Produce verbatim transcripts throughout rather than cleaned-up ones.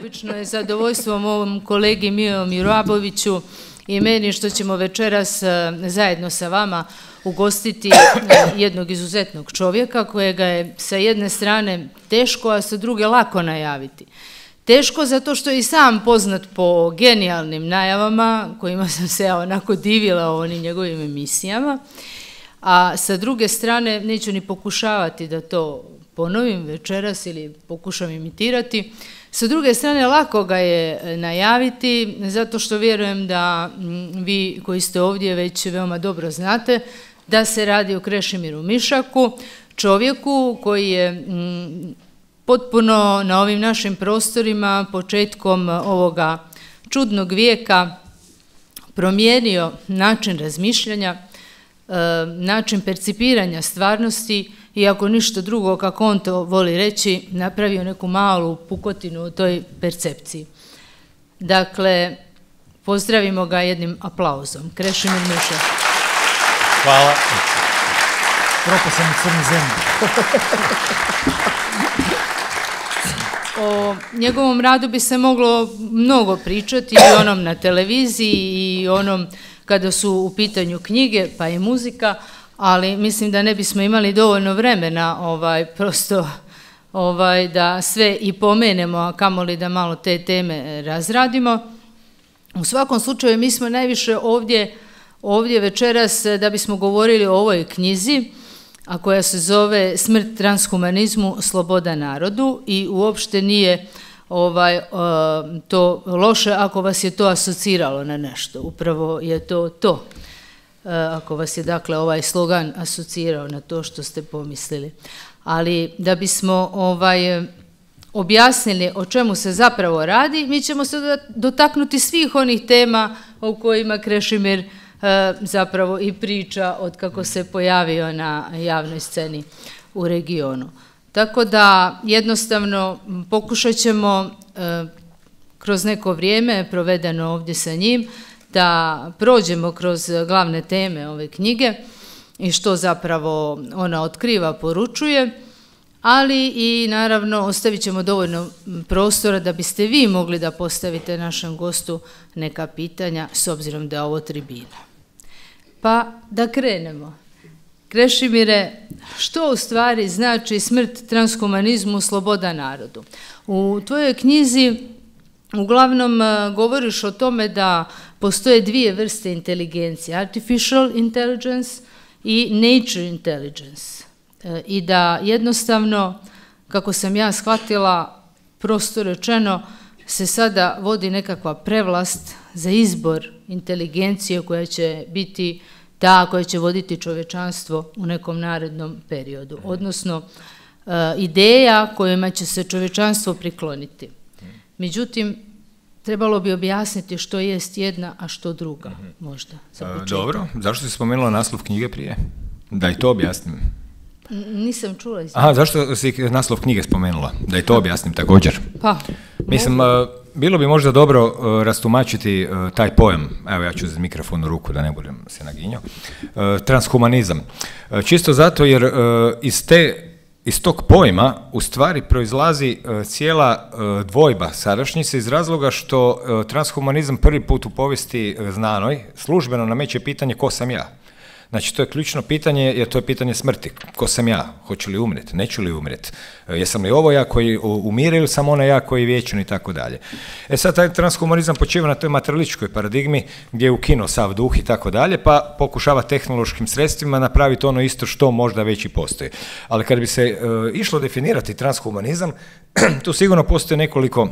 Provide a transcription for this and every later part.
neobično je zadovoljstvo ovom kolegi Miomiru Aboviću i meni što ćemo večeras zajedno sa vama ugostiti jednog izuzetnog čovjeka kojega je sa jedne strane teško, a sa druge lako najaviti. Teško zato što je i sam poznat po genijalnim najavama kojima sam se ja onako divila u onim njegovim emisijama, a sa druge strane neću ni pokušavati da to ponovim večeras ili pokušam imitirati. Sa druge strane, lako ga je najaviti, zato što vjerujem da vi koji ste ovdje već veoma dobro znate da se radi o Krešimiru Mišaku, čovjeku koji je potpuno na ovim našim prostorima početkom ovoga čudnog vijeka promijenio način razmišljanja, način percipiranja stvarnosti i ako ništa drugo, kako on to voli reći, napravio neku malu pukotinu u toj percepciji. Dakle, pozdravimo ga jednim aplauzom. Krešimir Mišak. Hvala. Propao sam u crnu zemlju. O njegovom radu bi se moglo mnogo pričati, i onom na televiziji i onom kada su u pitanju knjige pa i muzika, ali mislim da ne bismo imali dovoljno vremena ovaj, prosto ovaj, da sve i pomenemo, a kamoli da malo te teme razradimo. U svakom slučaju mi smo najviše ovdje, ovdje večeras da bismo govorili o ovoj knjizi, a koja se zove Smrt transhumanizmu, sloboda narodu, i uopšte nije ovaj, to loše ako vas je to asociralo na nešto. Upravo je to to. Ako vas je dakle ovaj slogan asocirao na to što ste pomislili. Ali da bismo ovaj, objasnili o čemu se zapravo radi, mi ćemo se dotaknuti svih onih tema o kojima Krešimir zapravo i priča od kako se pojavio na javnoj sceni u regionu. Tako da jednostavno pokušat ćemo kroz neko vrijeme provedeno ovdje sa njim da prođemo kroz glavne teme ove knjige i što zapravo ona otkriva, poručuje, ali i naravno ostavit ćemo dovoljno prostora da biste vi mogli da postavite našem gostu neka pitanja s obzirom da je ovo tribina. Pa da krenemo. Krešimire, što u stvari znači smrt transhumanizmu, sloboda narodu? U tvojoj knjizi uglavnom govoriš o tome da postoje dvije vrste inteligencije, artificial intelligence i nature intelligence. I da jednostavno, kako sam ja shvatila, prosto rečeno, se sada vodi nekakva prevlast za izbor inteligencije koja će biti ta koja će voditi čovječanstvo u nekom narednom periodu, odnosno ideja kojima će se čovječanstvo prikloniti. Međutim, trebalo bi objasniti što jest jedna, a što druga, možda, za početak. Dobro, zašto si spomenula naslov knjige prije? Da i to objasnim. Nisam čula. Aha, zašto si naslov knjige spomenula? Da i to objasnim također. Pa. Mislim, bilo bi možda dobro rastumačiti taj pojam, evo ja ću uz mikrofon u ruku da ne budem se naginjao, transhumanizam. Čisto zato jer iz te Iz tog pojma u stvari proizlazi cijela dvojba sadašnjice iz razloga što transhumanizam prvi put u povijesti znanoj službeno nameće pitanje ko sam ja. Znači, to je ključno pitanje, jer to je pitanje smrti. Ko sam ja? Hoću li umrijeti? Neću li umrijeti? Jesam li ovo ja koji umire ili sam ona ja koji je vječan i tako dalje. E sad, taj transhumanizam počiva na toj materialističkoj paradigmi gdje je ukinuo sav duh i tako dalje, pa pokušava tehnološkim sredstvima napraviti ono isto što možda već i postoji. Ali kad bi se uh, išlo definirati transhumanizam, tu sigurno postoji nekoliko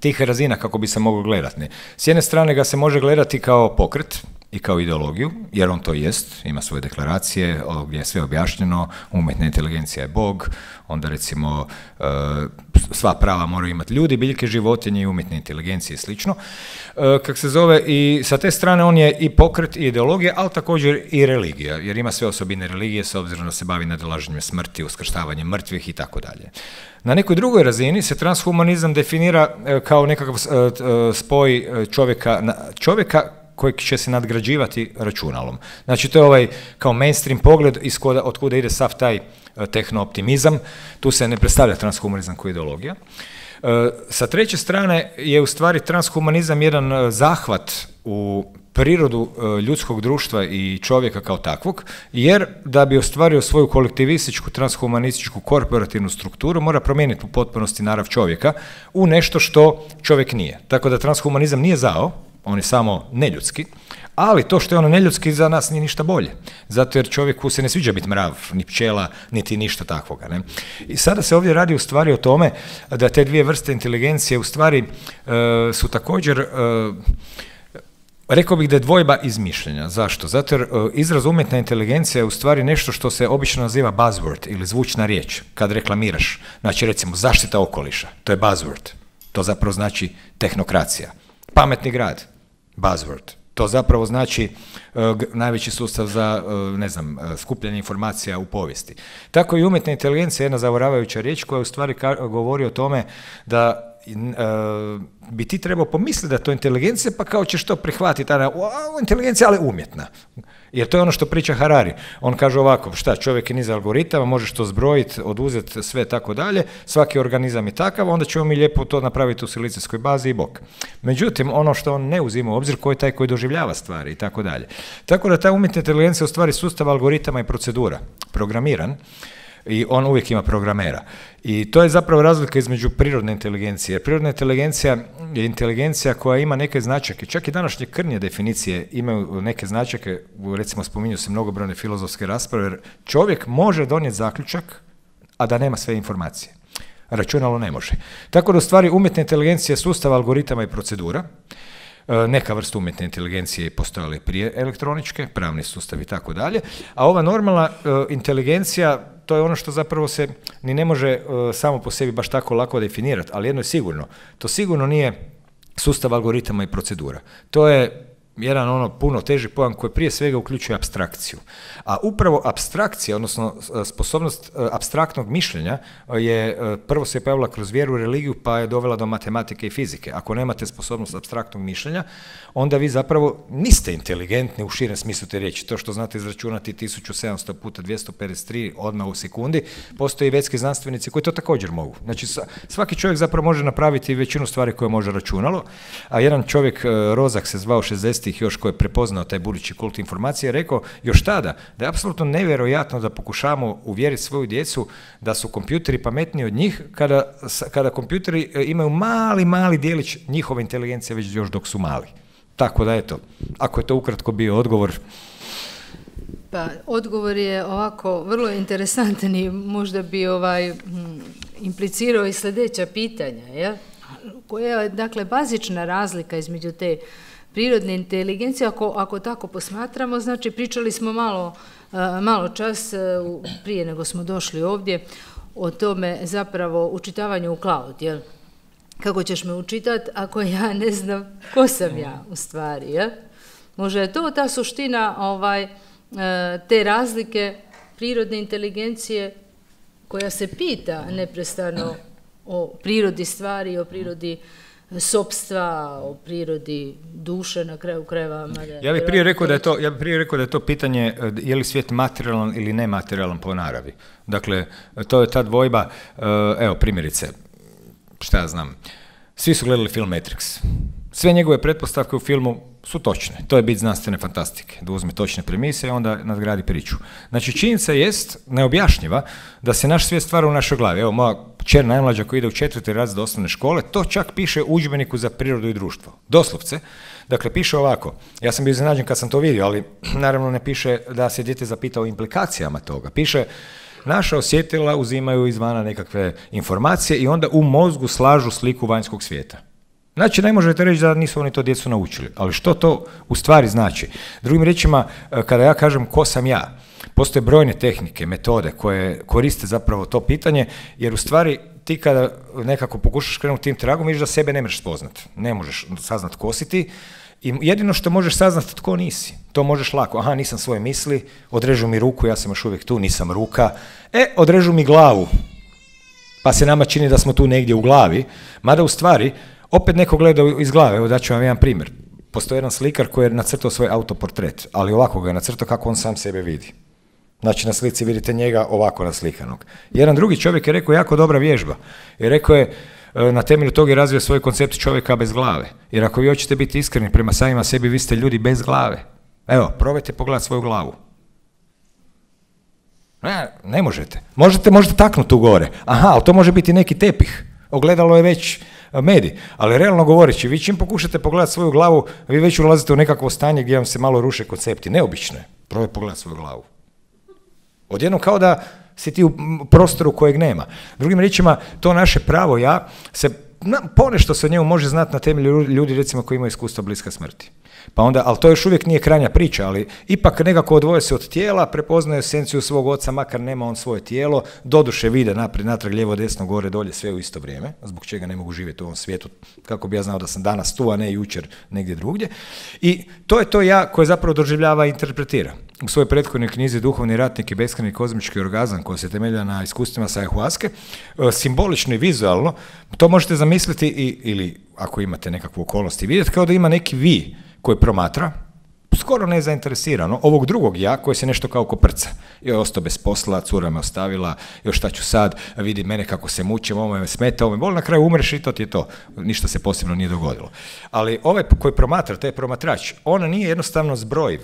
tih razina kako bi se moglo gledati. S jedne strane ga se može gledati kao pokret i kao ideologiju, jer on to jest, ima svoje deklaracije gdje je sve objašnjeno, umjetna inteligencija je Bog, onda recimo sva prava moraju imati ljudi, biljke, životinje i umjetne inteligencije i slično. Kak se zove, i sa te strane on je i pokret i ideologija, ali također i religija, jer ima sve osobine religije s obzirom da se bavi nadolaženjem smrti, uskrštavanjem mrtvih i tako dalje. Na nekoj drugoj razini se transhumanizam definira kao nekakav spoj čovjeka, čovjeka koji će se nadgrađivati računalom. Znači, to je ovaj kao mainstream pogled od kuda ide sav taj tehnooptimizam. Tu se ne predstavlja transhumanizam kao ideologija. Sa treće strane je u stvari transhumanizam jedan zahvat u prirodu ljudskog društva i čovjeka kao takvog, jer da bi ostvario svoju kolektivističku, transhumanističku, korporativnu strukturu, mora promijeniti u potpunosti narav čovjeka u nešto što čovjek nije. Tako da transhumanizam nije zao, on je samo neljudski, ali to što je ono neljudski za nas nije ništa bolje. Zato jer čovjeku se ne sviđa biti mrav, ni pčela, niti ništa takvoga. Ne? I sada se ovdje radi u stvari o tome da te dvije vrste inteligencije u stvari e, su također... E, Rekao bih da je dvojba iz mišljenja. Zašto? Zato jer uh, izraz umjetna inteligencija je u stvari nešto što se obično naziva buzzword ili zvučna riječ kad reklamiraš. Znači recimo zaštita okoliša, to je buzzword. To zapravo znači tehnokracija. Pametni grad, buzzword. To zapravo znači uh, najveći sustav za, uh, ne znam, uh, skupljanje informacija u povijesti. Tako i umjetna inteligencija je jedna zavaravajuća riječ koja u stvari ka- govori o tome da Uh, bi ti trebao pomisliti da je to inteligencija, pa kao ćeš to prihvatiti, a inteligencija, ali umjetna. Jer to je ono što priča Harari. On kaže ovako, šta, čovjek je niz algoritama, možeš to zbrojiti, oduzeti sve tako dalje, svaki organizam je takav, onda ćemo mi lijepo to napraviti u silicijskoj bazi i bok. Međutim, ono što on ne uzima u obzir, ko je taj koji doživljava stvari i tako dalje. Tako da ta umjetna inteligencija je u stvari sustav algoritama i procedura, programiran, i on uvijek ima programera. I to je zapravo razlika između prirodne inteligencije. Jer prirodna inteligencija je inteligencija koja ima neke značajke. Čak i današnje krnje definicije imaju neke značajke, recimo spominju se mnogobrojne filozofske rasprave, jer čovjek može donijeti zaključak, a da nema sve informacije. Računalo ne može. Tako da u stvari umjetna inteligencija je sustav algoritama i procedura. Neka vrsta umjetne inteligencije je postojala i prije elektroničke, pravni sustav i tako dalje, a ova normalna uh, inteligencija, to je ono što zapravo se ni ne može uh, samo po sebi baš tako lako definirati, ali jedno je sigurno, to sigurno nije sustav algoritama i procedura. To je jedan ono puno teži pojam koji prije svega uključuje apstrakciju. A upravo apstrakcija, odnosno sposobnost apstraktnog mišljenja je prvo se pojavila kroz vjeru, religiju, pa je dovela do matematike i fizike. Ako nemate sposobnost apstraktnog mišljenja, onda vi zapravo niste inteligentni u širem smislu te riječi. To što znate izračunati tisuću sedamsto puta dvjesto pedeset tri odmah u sekundi, postoje i vedski znanstvenici koji to također mogu. Znači svaki čovjek zapravo može napraviti većinu stvari koje može računalo, a jedan čovjek, Rozak se zvao šezdesetih još, koji je prepoznao taj budući kult informacije, rekao još tada da je apsolutno nevjerojatno da pokušamo uvjeriti svoju djecu da su kompjuteri pametniji od njih kada, kada kompjuteri imaju mali, mali dijelić njihove inteligencije već još dok su mali. Tako da eto, ako je to ukratko bio odgovor. Pa odgovor je ovako vrlo interesantan i možda bi ovaj, implicirao i sljedeća pitanja, jel? Koja je dakle bazična razlika između te prirodne inteligencije, ako, ako tako posmatramo, znači pričali smo malo, malo čas prije nego smo došli ovdje o tome zapravo učitavanju u cloud, jel? Kako ćeš me učitati ako ja ne znam ko sam ja u stvari, jel? Možda je to ta suština ovaj, te razlike prirodne inteligencije koja se pita neprestano o prirodi stvari, o prirodi sopstva, o prirodi duše na kraju krajeva. Ja bih prije rekao da je to, ja bih prije rekao da je to pitanje je li svijet materijalan ili nematerijalan po naravi. Dakle, to je ta dvojba, evo primjerice, šta ja znam, svi su gledali film Matrix. Sve njegove pretpostavke u filmu su točne. To je bit znanstvene fantastike. Da uzme točne premise i onda nadgradi priču. Znači, činjenica jest neobjašnjiva da se naš svijet stvara u našoj glavi. Evo, moja kćer najmlađa koja ide u četvrti razred osnovne škole, to čak piše u udžbeniku za prirodu i društvo. Doslovce. Dakle, piše ovako. Ja sam bio iznenađen kad sam to vidio, ali naravno ne piše da se dijete zapita o implikacijama toga. Piše naša osjetila uzimaju izvana nekakve informacije i onda u mozgu slažu sliku vanjskog svijeta. Znači, ne možete reći da nisu oni to djecu naučili, ali što to u stvari znači? Drugim riječima, kada ja kažem ko sam ja, postoje brojne tehnike, metode koje koriste zapravo to pitanje, jer u stvari ti kada nekako pokušaš krenuti tim tragom, vidiš da sebe ne možeš spoznat, ne možeš saznat ko si ti, i jedino što možeš saznat tko nisi, to možeš lako, aha, nisam svoje misli, odrežu mi ruku, ja sam još uvijek tu, nisam ruka, e, odrežu mi glavu, pa se nama čini da smo tu negdje u glavi, mada u stvari opet neko gleda iz glave. Evo daću vam jedan primjer. Postoji jedan slikar koji je nacrtao svoj autoportret, ali ovako ga je nacrtao kako on sam sebe vidi. Znači na slici vidite njega ovako naslikanog. Jedan drugi čovjek je rekao jako dobra vježba. I rekao je, na temelju toga je razvio svoj koncept čovjeka bez glave. Jer ako vi hoćete biti iskreni prema samima sebi, vi ste ljudi bez glave. Evo, probajte pogledati svoju glavu. Ne, ne možete. Možete, možete taknuti tu gore. Aha, ali to može biti neki tepih. Ogledalo je već medij. Ali realno govoreći, vi čim pokušate pogledati svoju glavu, vi već ulazite u nekakvo stanje gdje vam se malo ruše koncepti. Neobično je. Probaj pogledati svoju glavu. Odjednom kao da si ti u prostoru kojeg nema. Drugim riječima, to naše pravo ja se na, ponešto se o njemu može znati na temelju ljudi recimo koji imaju iskustva bliska smrti. Pa onda, ali to još uvijek nije krajnja priča, ali ipak nekako odvoje se od tijela, prepoznaje esenciju svog oca, makar nema on svoje tijelo, doduše vide naprijed, natrag, lijevo, desno, gore, dolje, sve u isto vrijeme, zbog čega ne mogu živjeti u ovom svijetu, kako bi ja znao da sam danas tu, a ne jučer negdje drugdje. I to je to ja koje zapravo doživljava i interpretira. U svojoj prethodnoj knjizi Duhovni ratnik i beskrajni kozmički orgazam, koja se temelja na iskustvima sa ayahuaske, simbolično i vizualno, to možete zamisliti i, ili ako imate nekakvu okolnost i vidjeti kao da ima neki vi koji promatra, skoro nezainteresirano, ovog drugog ja koji se nešto kao koprca. Joj, ostao bez posla, cura me ostavila, još šta ću sad, vidi mene kako se mučim, ovo me smeta, ovo me boli, na kraju umreš i to ti je to. Ništa se posebno nije dogodilo. Ali ovaj koji promatra, taj promatrač, on nije jednostavno zbrojiv.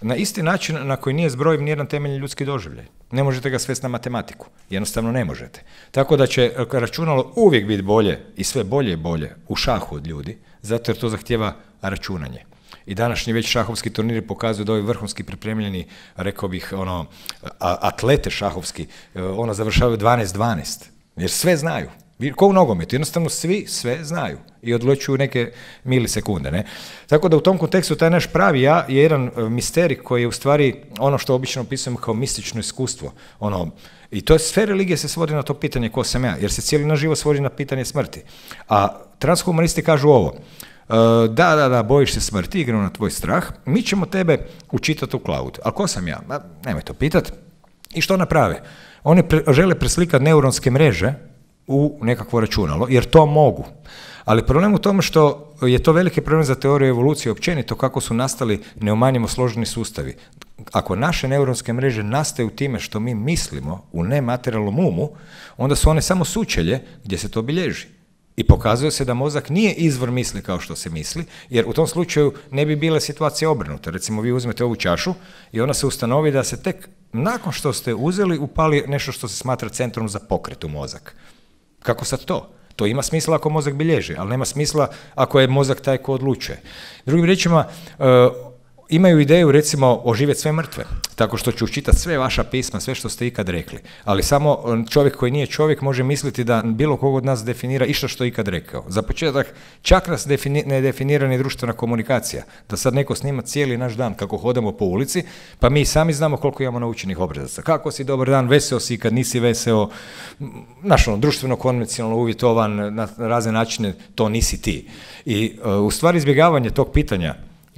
Na isti način na koji nije zbrojiv nijedan temeljni ljudski doživljaj. Ne možete ga svesti na matematiku. Jednostavno ne možete. Tako da će računalo uvijek biti bolje i sve bolje i bolje u šahu od ljudi, zato jer to zahtijeva računanje. I današnji već šahovski turniri pokazuju da ovi vrhunski pripremljeni, rekao bih, ono, atlete šahovski, ono završavaju dvanaest dvanaest, jer sve znaju. Ko u nogometu, jednostavno svi sve znaju i odlučuju neke milisekunde. Ne? Tako da u tom kontekstu taj naš pravi ja je jedan misterij koji je u stvari ono što obično opisujemo kao mistično iskustvo. Ono, i to je sve religije se svodi na to pitanje ko sam ja, jer se cijeli naš život svodi na pitanje smrti. A transhumanisti kažu ovo, da, da, da, bojiš se smrti, igramo na tvoj strah, mi ćemo tebe učitati u cloud. A ko sam ja? Ma, nemoj to pitat. I što naprave? Oni pre, žele preslikati neuronske mreže u nekakvo računalo, jer to mogu. Ali problem u tome što je to veliki problem za teoriju evolucije općenito, kako su nastali neumanjimo složeni sustavi. Ako naše neuronske mreže nastaju time što mi mislimo u nematerijalnom umu, onda su one samo sučelje gdje se to bilježi. I pokazuje se da mozak nije izvor misli kao što se misli, jer u tom slučaju ne bi bile situacije obrnute. Recimo, vi uzmete ovu čašu i ona se ustanovi da se tek nakon što ste uzeli upali nešto što se smatra centrom za pokret u mozak. Kako sad to? To ima smisla ako mozak bilježi, ali nema smisla ako je mozak taj ko odlučuje. Drugim riječima, uh, imaju ideju, recimo, oživjeti sve mrtve, tako što ću učitati sve vaša pisma, sve što ste ikad rekli. Ali samo čovjek koji nije čovjek može misliti da bilo kog od nas definira išta što je ikad rekao. Za početak, čak nas defini, ne definira ni društvena komunikacija. Da sad neko snima cijeli naš dan kako hodamo po ulici, pa mi sami znamo koliko imamo naučenih obrazaca. Kako si, dobar dan, veseo si, kad nisi veseo, znaš, ono, društveno konvencionalno uvjetovan na razne načine, to nisi ti. I uh, u stvari izbjegavanje tog pitanja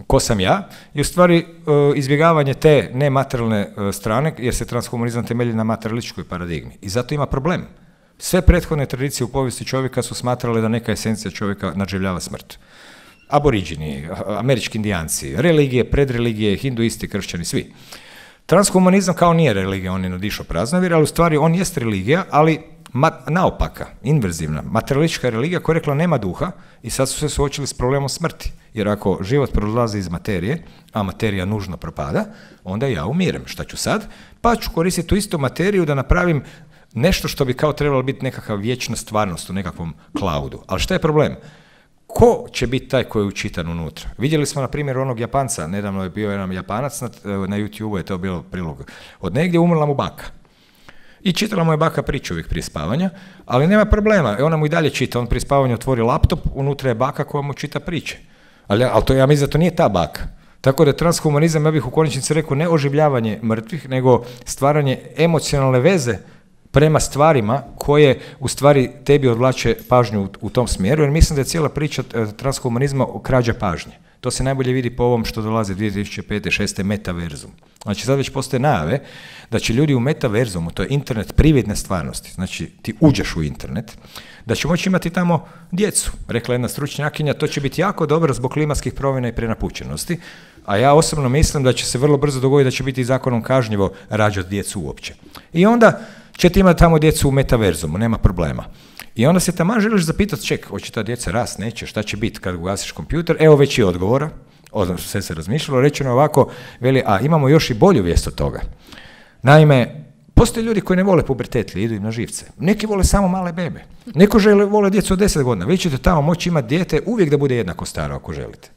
ko sam ja, i u stvari izbjegavanje te nematerijalne strane, jer se transhumanizam temelji na materialističkoj paradigmi. I zato ima problem. Sve prethodne tradicije u povijesti čovjeka su smatrale da neka esencija čovjeka nadživljava smrt. Aboriđini, američki indijanci, religije, predreligije, hinduisti, kršćani, svi. Transhumanizam kao nije religija, on je nadišao praznovir, ali u stvari on jest religija, ali naopaka, inverzivna, materialistička religija koja je rekla nema duha i sad su se suočili s problemom smrti. Jer ako život prolazi iz materije, a materija nužno propada, onda ja umirem. Šta ću sad? Pa ću koristiti tu istu materiju da napravim nešto što bi kao trebalo biti nekakva vječna stvarnost u nekakvom cloudu. Ali šta je problem? Ko će biti taj koji je učitan unutra? Vidjeli smo na primjer onog Japanca, nedavno je bio jedan Japanac, na, na YouTube je to bilo prilog. Od negdje umrla mu baka. I čitala mu je baka priču uvijek prije spavanja, ali nema problema, ona mu i dalje čita, on prije spavanja otvori laptop, unutra je baka koja mu čita priče. Ali, ali to, ja mislim da to nije ta baka. Tako da transhumanizam, ja bih u konačnici rekao, ne oživljavanje mrtvih, nego stvaranje emocionalne veze prema stvarima koje u stvari tebi odvlače pažnju u, u tom smjeru, jer mislim da je cijela priča transhumanizma krađa pažnje. To se najbolje vidi po ovom što dolaze dvije tisuće pete šeste metaverzum. Znači sad već postoje najave da će ljudi u metaverzumu, to je internet prividne stvarnosti, znači ti uđeš u internet, da će moći imati tamo djecu. Rekla jedna stručnjakinja, to će biti jako dobro zbog klimatskih promjena i prenapučenosti, a ja osobno mislim da će se vrlo brzo dogoditi da će biti zakonom kažnjivo rađati djecu uopće. I onda ćete imati tamo djecu u metaverzumu, nema problema. I onda se taman želiš zapitati, ček, hoće ta djeca rast, neće, šta će biti kad ugasiš kompjuter, evo već i odgovora, odnosno sve se razmišljalo, rečeno ovako, veli, a imamo još i bolju vijest od toga. Naime, postoje ljudi koji ne vole pubertet, idu im na živce. Neki vole samo male bebe. Neko žele, vole djecu od deset godina. Vi ćete tamo moći imati dijete uvijek da bude jednako staro ako želite.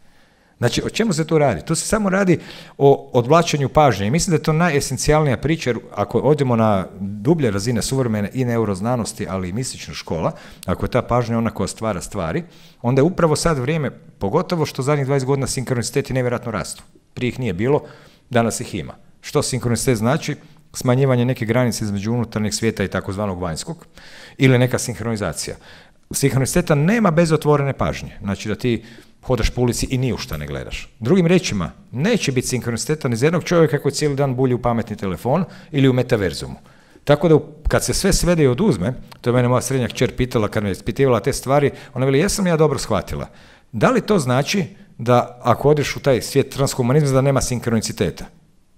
Znači, o čemu se tu radi? Tu se samo radi o odvlačenju pažnje. I mislim da je to najesencijalnija priča, jer ako odemo na dublje razine suvremene i neuroznanosti, ali i mistična škola, ako je ta pažnja ona koja stvara stvari, onda je upravo sad vrijeme, pogotovo što zadnjih dvadeset godina sinkroniciteti nevjerojatno rastu. Prije ih nije bilo, danas ih ima. Što sinkronicitet znači? Smanjivanje neke granice između unutarnjeg svijeta i takozvanog vanjskog, ili neka sinhronizacija. Sinhroniciteta nema bez otvorene pažnje. Znači da ti hodaš po ulici i ni u šta ne gledaš. Drugim riječima, neće biti sinkroniciteta ni za jednog čovjeka koji cijeli dan bulji u pametni telefon ili u metaverzumu. Tako da kad se sve svede i oduzme, to je mene moja srednja kćer pitala kad me ispitivala te stvari, ona veli, jesam ja dobro shvatila. Da li to znači da ako odeš u taj svijet transhumanizma da nema sinkroniciteta?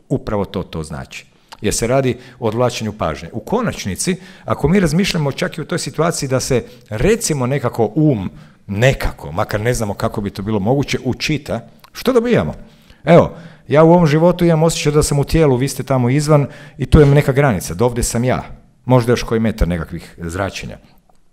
Upravo to to znači. Jer se radi o odvlačenju pažnje. U konačnici, ako mi razmišljamo čak i u toj situaciji da se recimo nekako um, nekako, makar ne znamo kako bi to bilo moguće, učita, što dobijamo? Evo, ja u ovom životu imam osjećaj da sam u tijelu, vi ste tamo izvan i tu je neka granica, dovde sam ja, možda još koji metar nekakvih zračenja.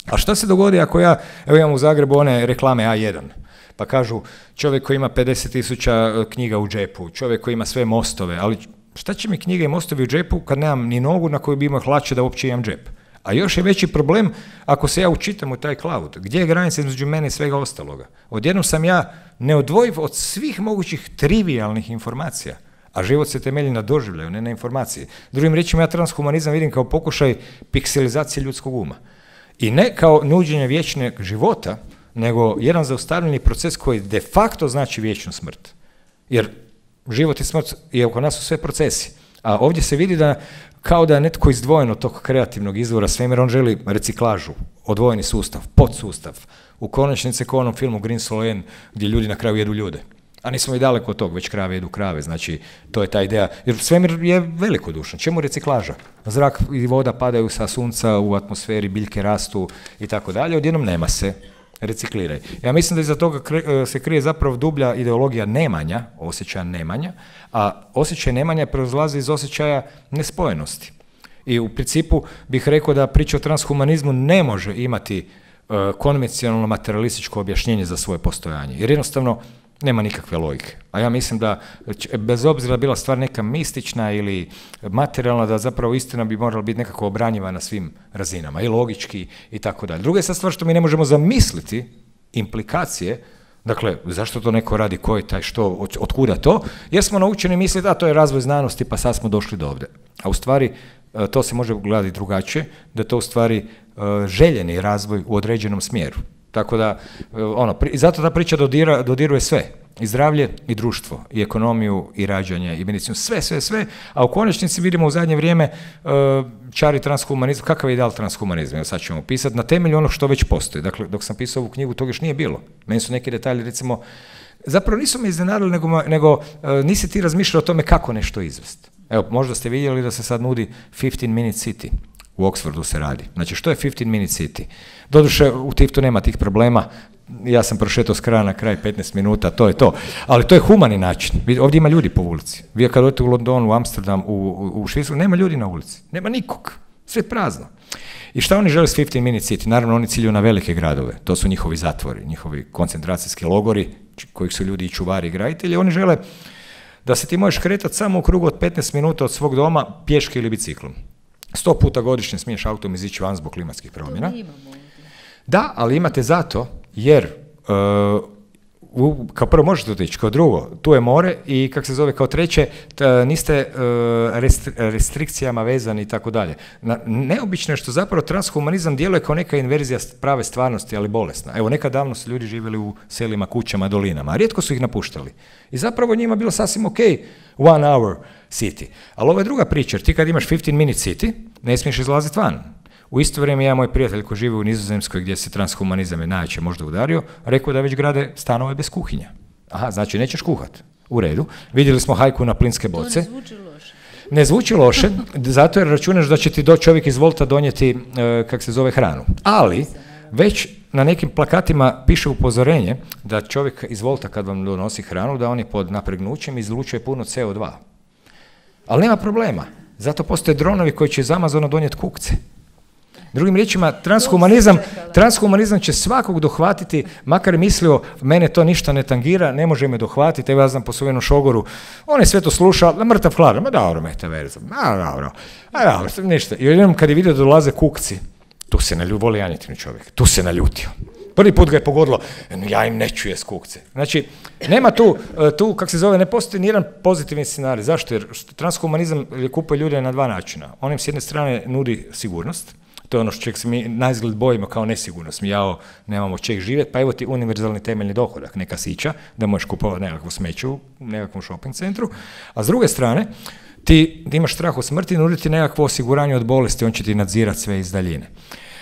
A šta se dogodi ako ja, evo imam u Zagrebu one reklame A jedan, pa kažu čovjek koji ima pedeset tisuća knjiga u džepu, čovjek koji ima sve mostove, ali šta će mi knjige i mostovi u džepu kad nemam ni nogu na koju bi imao hlače da uopće imam džep? A još je veći problem ako se ja učitam u taj cloud. Gdje je granica između mene i svega ostaloga? Odjednom sam ja neodvojiv od svih mogućih trivialnih informacija, a život se temelji na doživljaju, ne na informaciji. Drugim riječima, ja transhumanizam vidim kao pokušaj pikselizacije ljudskog uma. I ne kao nuđenje vječnog života, nego jedan zaustavljeni proces koji de facto znači vječnu smrt. Jer život i smrt je oko nas u sve procesi. A ovdje se vidi da kao da je netko izdvojen od tog kreativnog izvora svemira, on želi reciklažu, odvojeni sustav, podsustav. U konačnici kao u onom filmu Green Solen, gdje ljudi na kraju jedu ljude. A nismo i daleko od tog, već krave jedu krave, znači to je ta ideja. Jer svemir je velikodušan. Čemu reciklaža? Zrak i voda padaju sa sunca u atmosferi, biljke rastu i tako dalje, odjednom nema se. Recikliraj. Ja mislim da iza toga se krije zapravo dublja ideologija nemanja, osjećaja nemanja, a osjećaj nemanja proizlazi iz osjećaja nespojenosti. I u principu bih rekao da priča o transhumanizmu ne može imati uh, konvencionalno materialističko objašnjenje za svoje postojanje, jer jednostavno nema nikakve logike. A ja mislim da, bez obzira bila stvar neka mistična ili materijalna, da zapravo istina bi morala biti nekako obranjiva na svim razinama, i logički i tako dalje. Druga je sad stvar što mi ne možemo zamisliti implikacije, dakle, zašto to neko radi, ko je taj, što, od, od kuda to, jer smo naučeni misliti da to je razvoj znanosti, pa sad smo došli do ovdje. A u stvari, to se može gledati drugačije, da to u stvari željeni razvoj u određenom smjeru. Tako da, ono, i zato ta priča dodira, dodiruje sve, i zdravlje, i društvo, i ekonomiju, i rađanje, i medicinu, sve, sve, sve, a u konačnici vidimo u zadnje vrijeme uh, čari transhumanizam. Kakav je ideal transhumanizma? Evo sad ćemo pisati na temelju onog što već postoji. Dakle, dok sam pisao ovu knjigu, toga još nije bilo. Meni su neki detalji, recimo, zapravo nisu me iznenadili, nego, nego uh, nisi ti razmišljao o tome kako nešto izvesti. Evo, možda ste vidjeli da se sad nudi fifteen minute city. U Oxfordu se radi. Znači, što je fifteen minute city? Doduše, u Tiftu nema tih problema, ja sam prošetao s kraja na kraj petnaest minuta, to je to. Ali to je humani način. Ovdje ima ljudi po ulici. Vi kad odete u London, u Amsterdam, u, u, u Švicarsku, nema ljudi na ulici. Nema nikog. Sve prazno. I šta oni žele s fifteen minute city? Naravno, oni ciljuju na velike gradove. To su njihovi zatvori, njihovi koncentracijski logori, kojih su ljudi i čuvari i graditelji. Oni žele da se ti možeš kretati samo u krugu od petnaest minuta od svog doma, pješke ili biciklom. Sto puta godišnje smiješ autom izići van zbog klimatskih promjena. Da, ali imate zato, jer uh, u, kao prvo možete otići, kao drugo, tu je more i kako se zove kao treće, t, niste uh, restri, restrikcijama vezani i tako dalje. Neobično je što zapravo transhumanizam djeluje kao neka inverzija prave stvarnosti, ali bolesna. Evo, nekad davno su ljudi živjeli u selima, kućama, dolinama, a rijetko su ih napuštali. I zapravo njima bilo sasvim ok, one hour city. Ali ovo je druga priča, jer ti kad imaš fifteen minute city, ne smiješ izlaziti van. U isto vrijeme ja, moj prijatelj koji živi u Nizozemskoj, gdje se transhumanizam je najveće možda udario, rekao da već grade stanove bez kuhinja. Aha, znači nećeš kuhat. U redu. Vidjeli smo hajku na plinske boce. To ne zvuči loše. ne zvuči loše, zato jer računaš da će ti do čovjek iz Volta donijeti, e, kak se zove, hranu. Ali, već na nekim plakatima piše upozorenje da čovjek iz Volta kad vam donosi hranu, da on je pod napregnućem izlučuje puno C O dva. Ali nema problema. Zato postoje dronovi koji će iz Amazona donijeti kukce. Drugim riječima, transhumanizam, transhumanizam će svakog dohvatiti, makar mislio, mene to ništa ne tangira, ne može me dohvatiti, evo ja znam po svojenom šogoru, on je sve to slušao, mrtav hladan, ma dobro, metaverzum, ma dobro, a dobro, ništa. I jednom kad je vidio da dolaze kukci, tu se naljutio, voli janjetinu čovjek, tu se naljutio. Prvi put ga je pogodilo, ja im ne čuje skukce. Znači, nema tu, tu kako se zove, ne postoji nijedan pozitivni scenarij. Zašto? Jer transhumanizam kupuje ljude na dva načina. On im s jedne strane nudi sigurnost, to je ono što čeg se mi naizgled bojimo kao nesigurnost. Mi jao, nemamo čeg živjeti, pa evo ti univerzalni temeljni dohodak, neka sića, da možeš kupovati nekakvu smeću u nekakvom shopping centru. A s druge strane, ti imaš strah od smrti, nudi ti nekakvo osiguranje od bolesti, on će ti nadzirati sve iz daljine.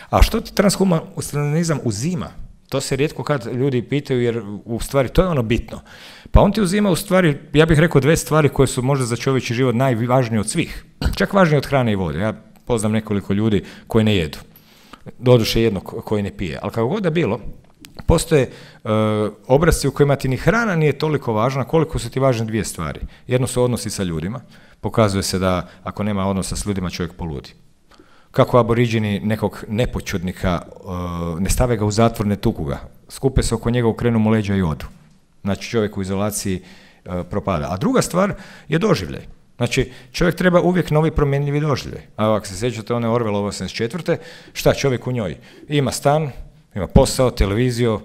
A što ti transhumanizam uzima? To se rijetko kad ljudi pitaju, jer u stvari to je ono bitno. Pa on ti uzima u stvari, ja bih rekao, dve stvari koje su možda za čovječji život najvažnije od svih. Čak važnije od hrane i vode. Ja poznam nekoliko ljudi koji ne jedu. Doduše jednog koji ne pije. Ali kako god da bilo, postoje uh, obrasci u kojima ti ni hrana nije toliko važna koliko su ti važne dvije stvari. Jedno su odnosi sa ljudima. Pokazuje se da ako nema odnosa s ljudima, čovjek poludi. Kako aboriđini nekog nepočudnika, uh, ne stave ga u zatvor, ne tuku ga. Skupe se oko njega, okrenu mu leđa i odu. Znači čovjek u izolaciji uh, propada. A druga stvar je doživljaj. Znači čovjek treba uvijek novi promjenljivi doživljaj. A ako se sjećate one Orwellove osamdeset četvrte šta čovjek u njoj? Ima stan, ima posao, televiziju.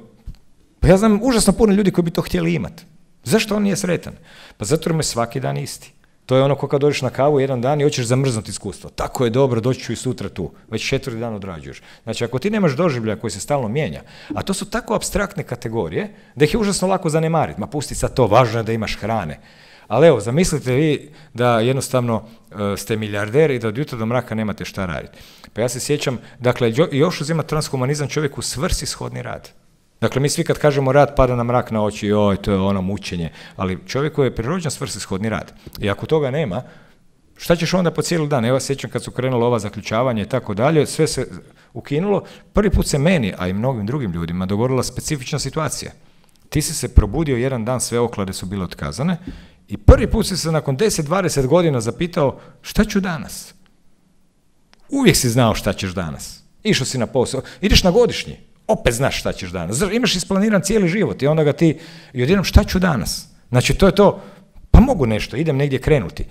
Pa ja znam užasno puno ljudi koji bi to htjeli imati. Zašto on nije sretan? Pa zato jer mu je svaki dan isti. To je ono ko kad dođeš na kavu jedan dan i hoćeš zamrznuti iskustvo. Tako je dobro, doći ću i sutra tu. Već četvrti dan odrađuješ. Znači, ako ti nemaš doživljaja koji se stalno mijenja, a to su tako apstraktne kategorije, da ih je užasno lako zanemariti. Ma pusti sad to, važno je da imaš hrane. Ali evo, zamislite vi da jednostavno uh, ste milijarder i da od jutra do mraka nemate šta raditi. Pa ja se sjećam, dakle, još uzima transhumanizam čovjeku svrsishodni rad. Dakle, mi svi kad kažemo rad, pada nam mrak na oči, joj, to je ono mučenje, ali čovjeku je prirođen svrsishodni rad. I ako toga nema, šta ćeš onda po cijeli dan? Evo, sjećam kad su krenula ova zaključavanja i tako dalje, sve se ukinulo. Prvi put se meni, a i mnogim drugim ljudima, dogodila specifična situacija. Ti si se probudio jedan dan, sve oklade su bile otkazane i prvi put si se nakon deset dvadeset godina zapitao šta ću danas? Uvijek si znao šta ćeš danas. Išao si na posao, ideš na godišnji. Opet znaš šta ćeš danas. Imaš isplaniran cijeli život i onda ga ti, i odjednom šta ću danas? Znači to je to, pa mogu nešto, idem negdje krenuti,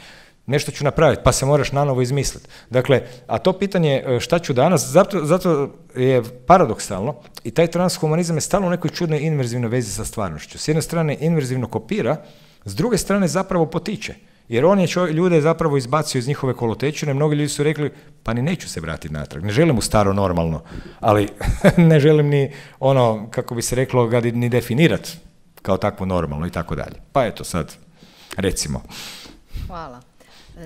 nešto ću napraviti, pa se moraš nanovo izmisliti. Dakle, a to pitanje šta ću danas, zato, zato je paradoksalno i taj transhumanizam je stalno u nekoj čudnoj inverzivnoj vezi sa stvarnošću. S jedne strane inverzivno kopira, s druge strane zapravo potiče. Jer on je čovjek, ljude zapravo izbacio iz njihove kolotečine, mnogi ljudi su rekli, pa ni neću se vratiti natrag, ne želim u staro normalno, ali ne želim ni ono, kako bi se reklo, ga ni definirati kao takvo normalno i tako dalje. Pa eto sad, recimo. Hvala.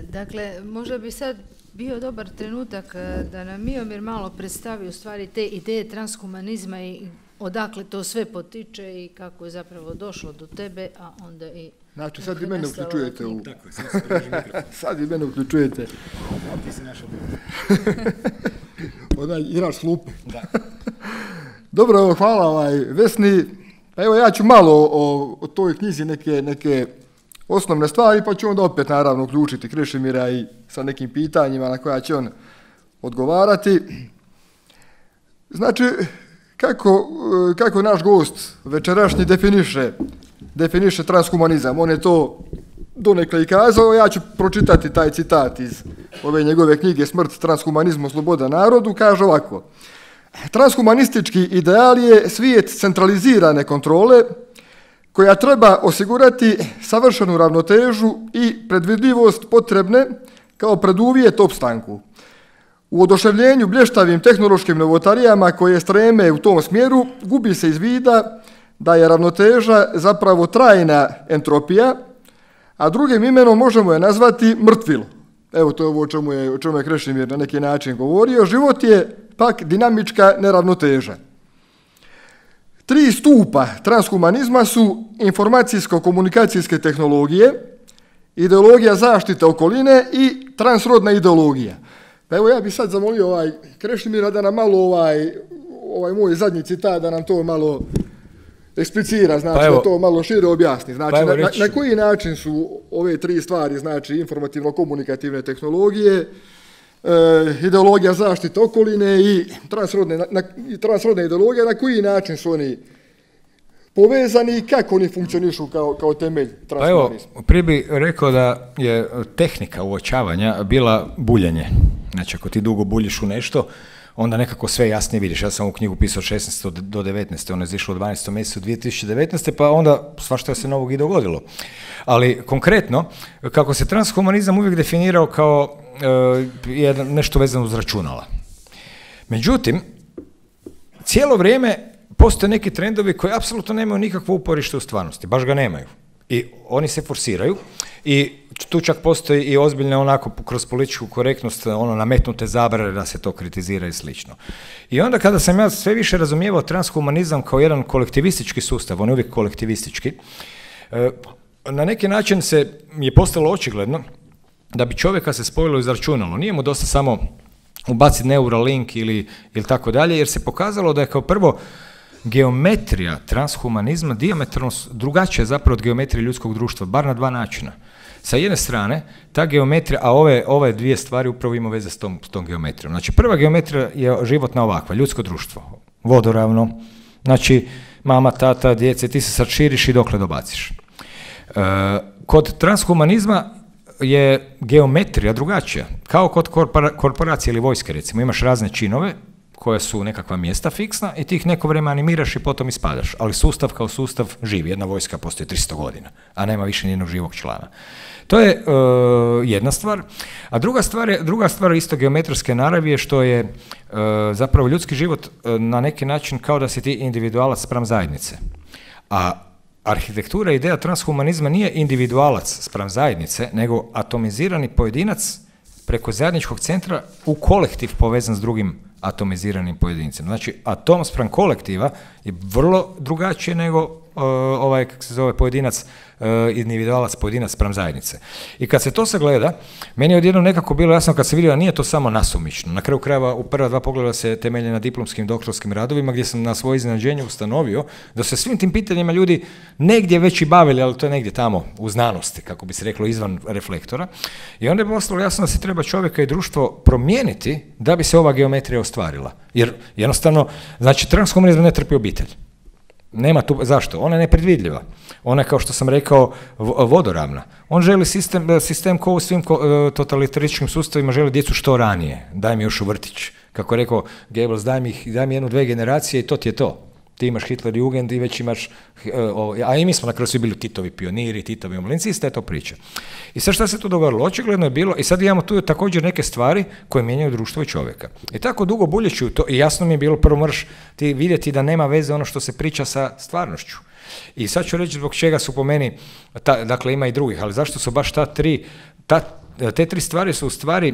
Dakle, možda bi sad bio dobar trenutak da nam Miomir malo predstavi u stvari te ideje transhumanizma i odakle to sve potiče i kako je zapravo došlo do tebe, a onda i... Znači, sad i mene uključujete u... Tako je, sad se drži mikrofon. Sad i mene uključujete. A ti si naša Onaj, igraš slupe. Da. Dobro, evo, hvala ovaj, Vesni. Pa evo, ja ću malo o, o toj knjizi neke, neke osnovne stvari, pa ću onda opet, naravno, uključiti Krešimira i sa nekim pitanjima na koja će on odgovarati. Znači, kako, kako naš gost večerašnji definiše definiše transhumanizam. On je to donekle i kazao, ja ću pročitati taj citat iz ove njegove knjige Smrt, transhumanizmu, sloboda narodu, kaže ovako. Transhumanistički ideal je svijet centralizirane kontrole koja treba osigurati savršenu ravnotežu i predvidljivost potrebne kao preduvjet opstanku. U oduševljenju blještavim tehnološkim novotarijama koje streme u tom smjeru gubi se iz vida da je ravnoteža zapravo trajna entropija, a drugim imenom možemo je nazvati mrtvilo. Evo, to je ovo o čemu je, o čemu je Krešimir na neki način govorio. Život je pak dinamička neravnoteža. Tri stupa transhumanizma su informacijsko-komunikacijske tehnologije, ideologija zaštite okoline i transrodna ideologija. Pa evo ja bih sad zamolio ovaj Krešimira da nam malo ovaj, ovaj moj zadnji citat, da nam to malo eksplicira, znači pa evo, da to malo šire objasni. Znači, pa na, na, na koji način su ove tri stvari, znači informativno-komunikativne tehnologije, e, ideologija zaštite okoline i transrodne, na, i transrodne ideologije, na koji način su oni povezani i kako oni funkcionišu kao, kao temelj transhumanizma? Pa evo, prije bih rekao da je tehnika uočavanja bila buljenje. Znači, ako ti dugo buljiš u nešto, onda nekako sve jasnije vidiš. Ja sam ovu knjigu pisao od šesnaeste do devetnaeste, ona je izišla u dvanaestom mjesecu dvije tisuće devetnaeste, pa onda svašta se novog i dogodilo. Ali konkretno, kako se transhumanizam uvijek definirao kao e, jedan, nešto vezano uz računala. Međutim, cijelo vrijeme postoje neki trendovi koji apsolutno nemaju nikakvo uporište u stvarnosti, baš ga nemaju. I oni se forsiraju i tu čak postoji i ozbiljne onako kroz političku korektnost ono nametnute zabrane da se to kritizira i slično. I onda kada sam ja sve više razumijevao transhumanizam kao jedan kolektivistički sustav, on je uvijek kolektivistički, na neki način se je postalo očigledno da bi čovjeka se spojilo iz računalo. Nije mu dosta samo ubaciti Neuralink ili, ili tako dalje, jer se pokazalo da je kao prvo geometrija transhumanizma dijametralno drugačija zapravo od geometrije ljudskog društva, bar na dva načina. Sa jedne strane, ta geometrija, a ove, ove dvije stvari upravo ima veze s tom, s tom geometrijom. Znači, prva geometrija je životna ovakva, ljudsko društvo, vodoravno, znači, mama, tata, djece, ti se sad širiš i dokle dobaciš. E, kod transhumanizma je geometrija drugačija, kao kod korpora, korporacije ili vojske, recimo, imaš razne činove, koja su nekakva mjesta fiksna i ti ih neko vrijeme animiraš i potom ispadaš. Ali sustav kao sustav živi. Jedna vojska postoji tristo godina, a nema više nijednog živog člana. To je uh, jedna stvar. A druga stvar je, druga stvar isto geometrijske naravi je što je uh, zapravo ljudski život uh, na neki način kao da si ti individualac spram zajednice. A arhitektura i ideja transhumanizma nije individualac spram zajednice, nego atomizirani pojedinac preko zajedničkog centra u kolektiv povezan s drugim atomiziranim pojedincem. Znači, atom spram kolektiva je vrlo drugačije nego uh, ovaj, kako se zove, pojedinac, uh, individualac, pojedinac spram zajednice. I kad se to sagleda, meni je odjednom nekako bilo jasno kad se vidio da nije to samo nasumično. Na kraju krajeva u prva dva pogleda se temelje na diplomskim doktorskim radovima gdje sam na svoje iznenađenje ustanovio da se svim tim pitanjima ljudi negdje već i bavili, ali to je negdje tamo u znanosti, kako bi se reklo, izvan reflektora. I onda je postalo jasno da se treba čovjeka i društvo promijeniti da bi se ova geometrija ostvarila. Jer jednostavno, znači, transhumanizam ne trpi obitelj. Nema tu, zašto? Ona je nepredvidljiva. Ona je, kao što sam rekao, vodoravna. On želi sistem, sistem ko u svim totalitarističkim sustavima, želi djecu što ranije. Daj mi još u vrtić. Kako je rekao Goebbels, daj mi, daj mi jednu, dve generacije i to ti je to. Ti imaš Hitler Jugend i već imaš, a i mi smo na kraju svi bili Titovi pioniri, Titovi omlinci, ista je to priča. I sad šta se tu dogodilo? Očigledno je bilo, i sad imamo tu također neke stvari koje mijenjaju društvo i čovjeka. I tako dugo buljeći u to, i jasno mi je bilo, prvo moraš ti vidjeti da nema veze ono što se priča sa stvarnošću. I sad ću reći zbog čega su po meni, ta, dakle ima i drugih, ali zašto su baš ta tri, ta, te tri stvari su u stvari